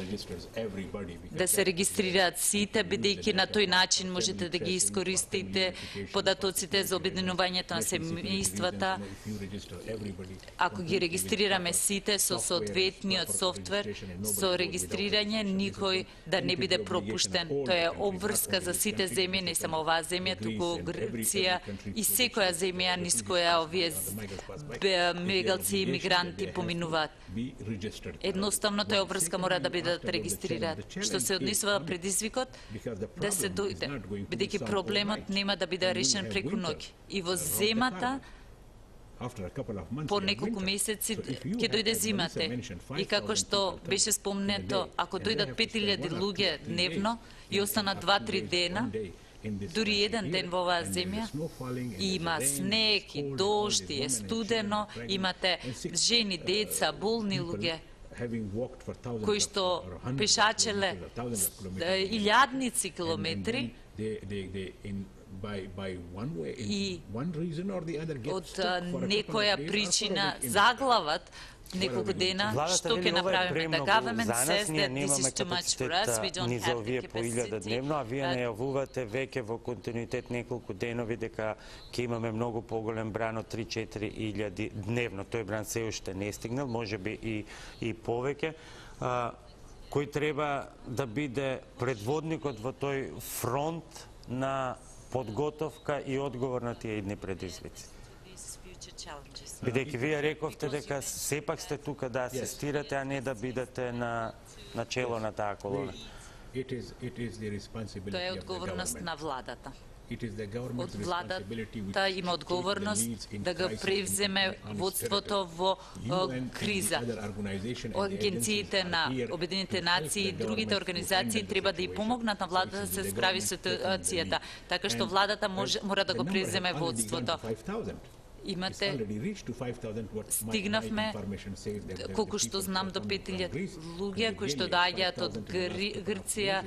да се регистрираат сите, бидејќи на тој начин можете да ги искористите податоците за обединувањето на семејствата. Ако ги регистрираме сите со соодветниот софтвер, со регистрирање, никој да не биде пропуштен. Тоа е обврска за сите земји, не само оваа земја, туку Грција и секоја земја низ која овие бегалци и мигранти поминуваат. Едноставно тој обврска мора да бидат регистрираат. Што се однесува предизвикот да се дојде, бидејќи проблемот нема да биде решен преку ноќ. И во земата по неколку месеци ќе дојде зимата. И како што беше спомнето, ако дојдат пет илјади луѓе дневно и останат два-три дена, дури еден ден во оваа земја, има снег и дожд и е студено, имате жени, деца, болни луѓе, кои што пешачеле илјадници километри, и од некоја причина заглават неколку дена, што ќе направиме? Да government says that this is too much for us, we don't have the capacity. Дневно, а вие најавувате веќе во континуитет неколку денови дека ќе имаме многу поголем бран од три-четири илјади дневно. Тој бран се уште не стигнал, можеби и и повеќе. Кој треба да биде предводникот во тој фронт на подготовка и одговор на тие идни предизвици? Бидејќи вие рековте дека сепак сте тука да асистирате, а не да бидете на начело на таа колона. Тоа е одговорност на владата. Од владата има одговорност да го превземе водството во криза. Агенциите на Обединетите нации и другите организации треба да и помогнат на владата да се справи со ситуацијата, така што владата може, мора да го превземе водството. Имате, стигнавме, колку што знам, до пет илјади луѓе кои што доаѓаат од Грција.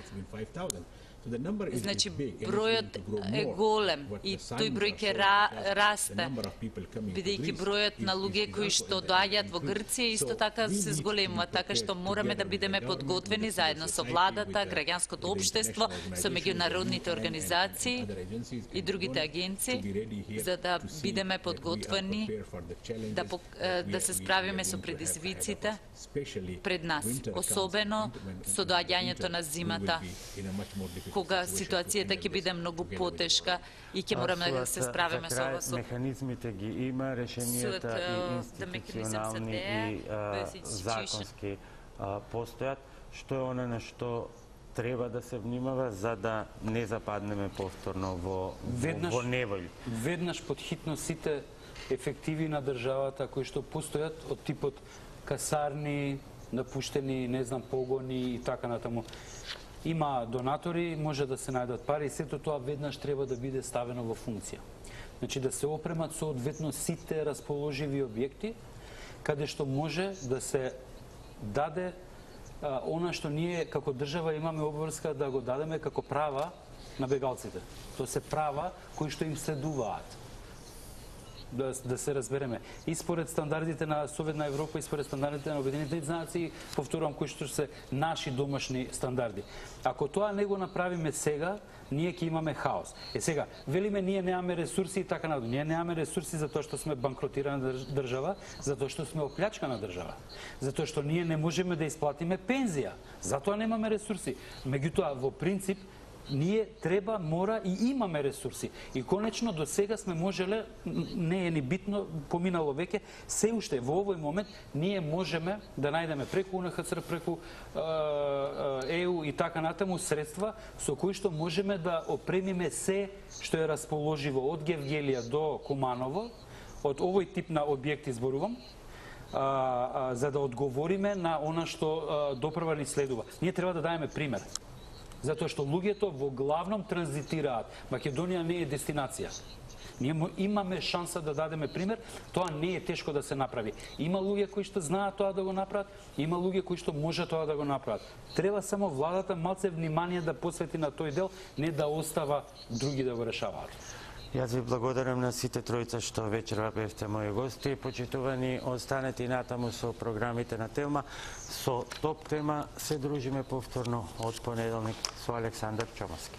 Значи, бројот е голем и тој број ќе расте, бидејќи бројот на луѓе кои што доаѓаат во Грција исто така се зголемува, така што мораме да бидеме подготвени заедно со владата, граѓанското општество, со меѓународните организации и другите агенции, за да бидеме подготвени да, да се справиме со предизвиците пред нас, особено со доаѓањето на зимата, кога ситуацијата ќе биде многу потешка и ќе мораме да се справиме со ова. Механизмите ги има, решенијата и институционални и законски постојат. Што е она на што треба да се внимава за да не западнеме повторно во, во неволја? Веднаш под хитно сите ефективи на државата кои што постојат од типот касарни, напуштени, не знам, погони и така натаму. Има донатори, може да се најдат пари и сето тоа веднаш треба да биде ставено во функција. Значи да се опремат соодветно сите расположиви објекти, каде што може да се даде а, она што ние како држава имаме обврска да го дадеме како права на бегалците. Тоа се права кои што им следуваат. Да, да се разбереме. И според стандардите на Советна Европа и според стандардите на Обединетите нации, повторувам, кои што се наши домашни стандарди. Ако тоа не го направиме сега, ние ќе имаме хаос. Е сега, велиме ние немаме ресурси и така надолу. Ние немаме ресурси затоа што сме банкротирана држава, затоа што сме оплячкана држава, затоа што ние не можеме да исплатиме пензија. Затоа немаме ресурси. Меѓутоа, во принцип, ние треба, мора и имаме ресурси. И конечно до сега сме можеле, не е ни битно, поминало веќе, се уште во овој момент ние можеме да најдеме преку УНХЦР, преку Е Ю и така натаму средства со кои што можеме да опремиме се што е расположиво од Гевгелија до Куманово, од овој тип на објекти зборувам, а, а, за да одговориме на она што допрва ни следува. Ние треба да даеме пример. Затоа што луѓето во главном транзитираат. Македонија не е дестинација. Ние имаме шанса да дадеме пример, тоа не е тешко да се направи. Има луѓе кои што знаат тоа да го направат, има луѓе кои што може тоа да го направат. Треба само владата малце внимание да посвети на тој дел, не да остава други да го решаваат. Јас ви благодарам на сите тројца што вечерва бевте мои гости. Почитувани, останете и натаму со програмите на Телма. Со топ тема се дружиме повторно од понеделник со Александар Чомаски.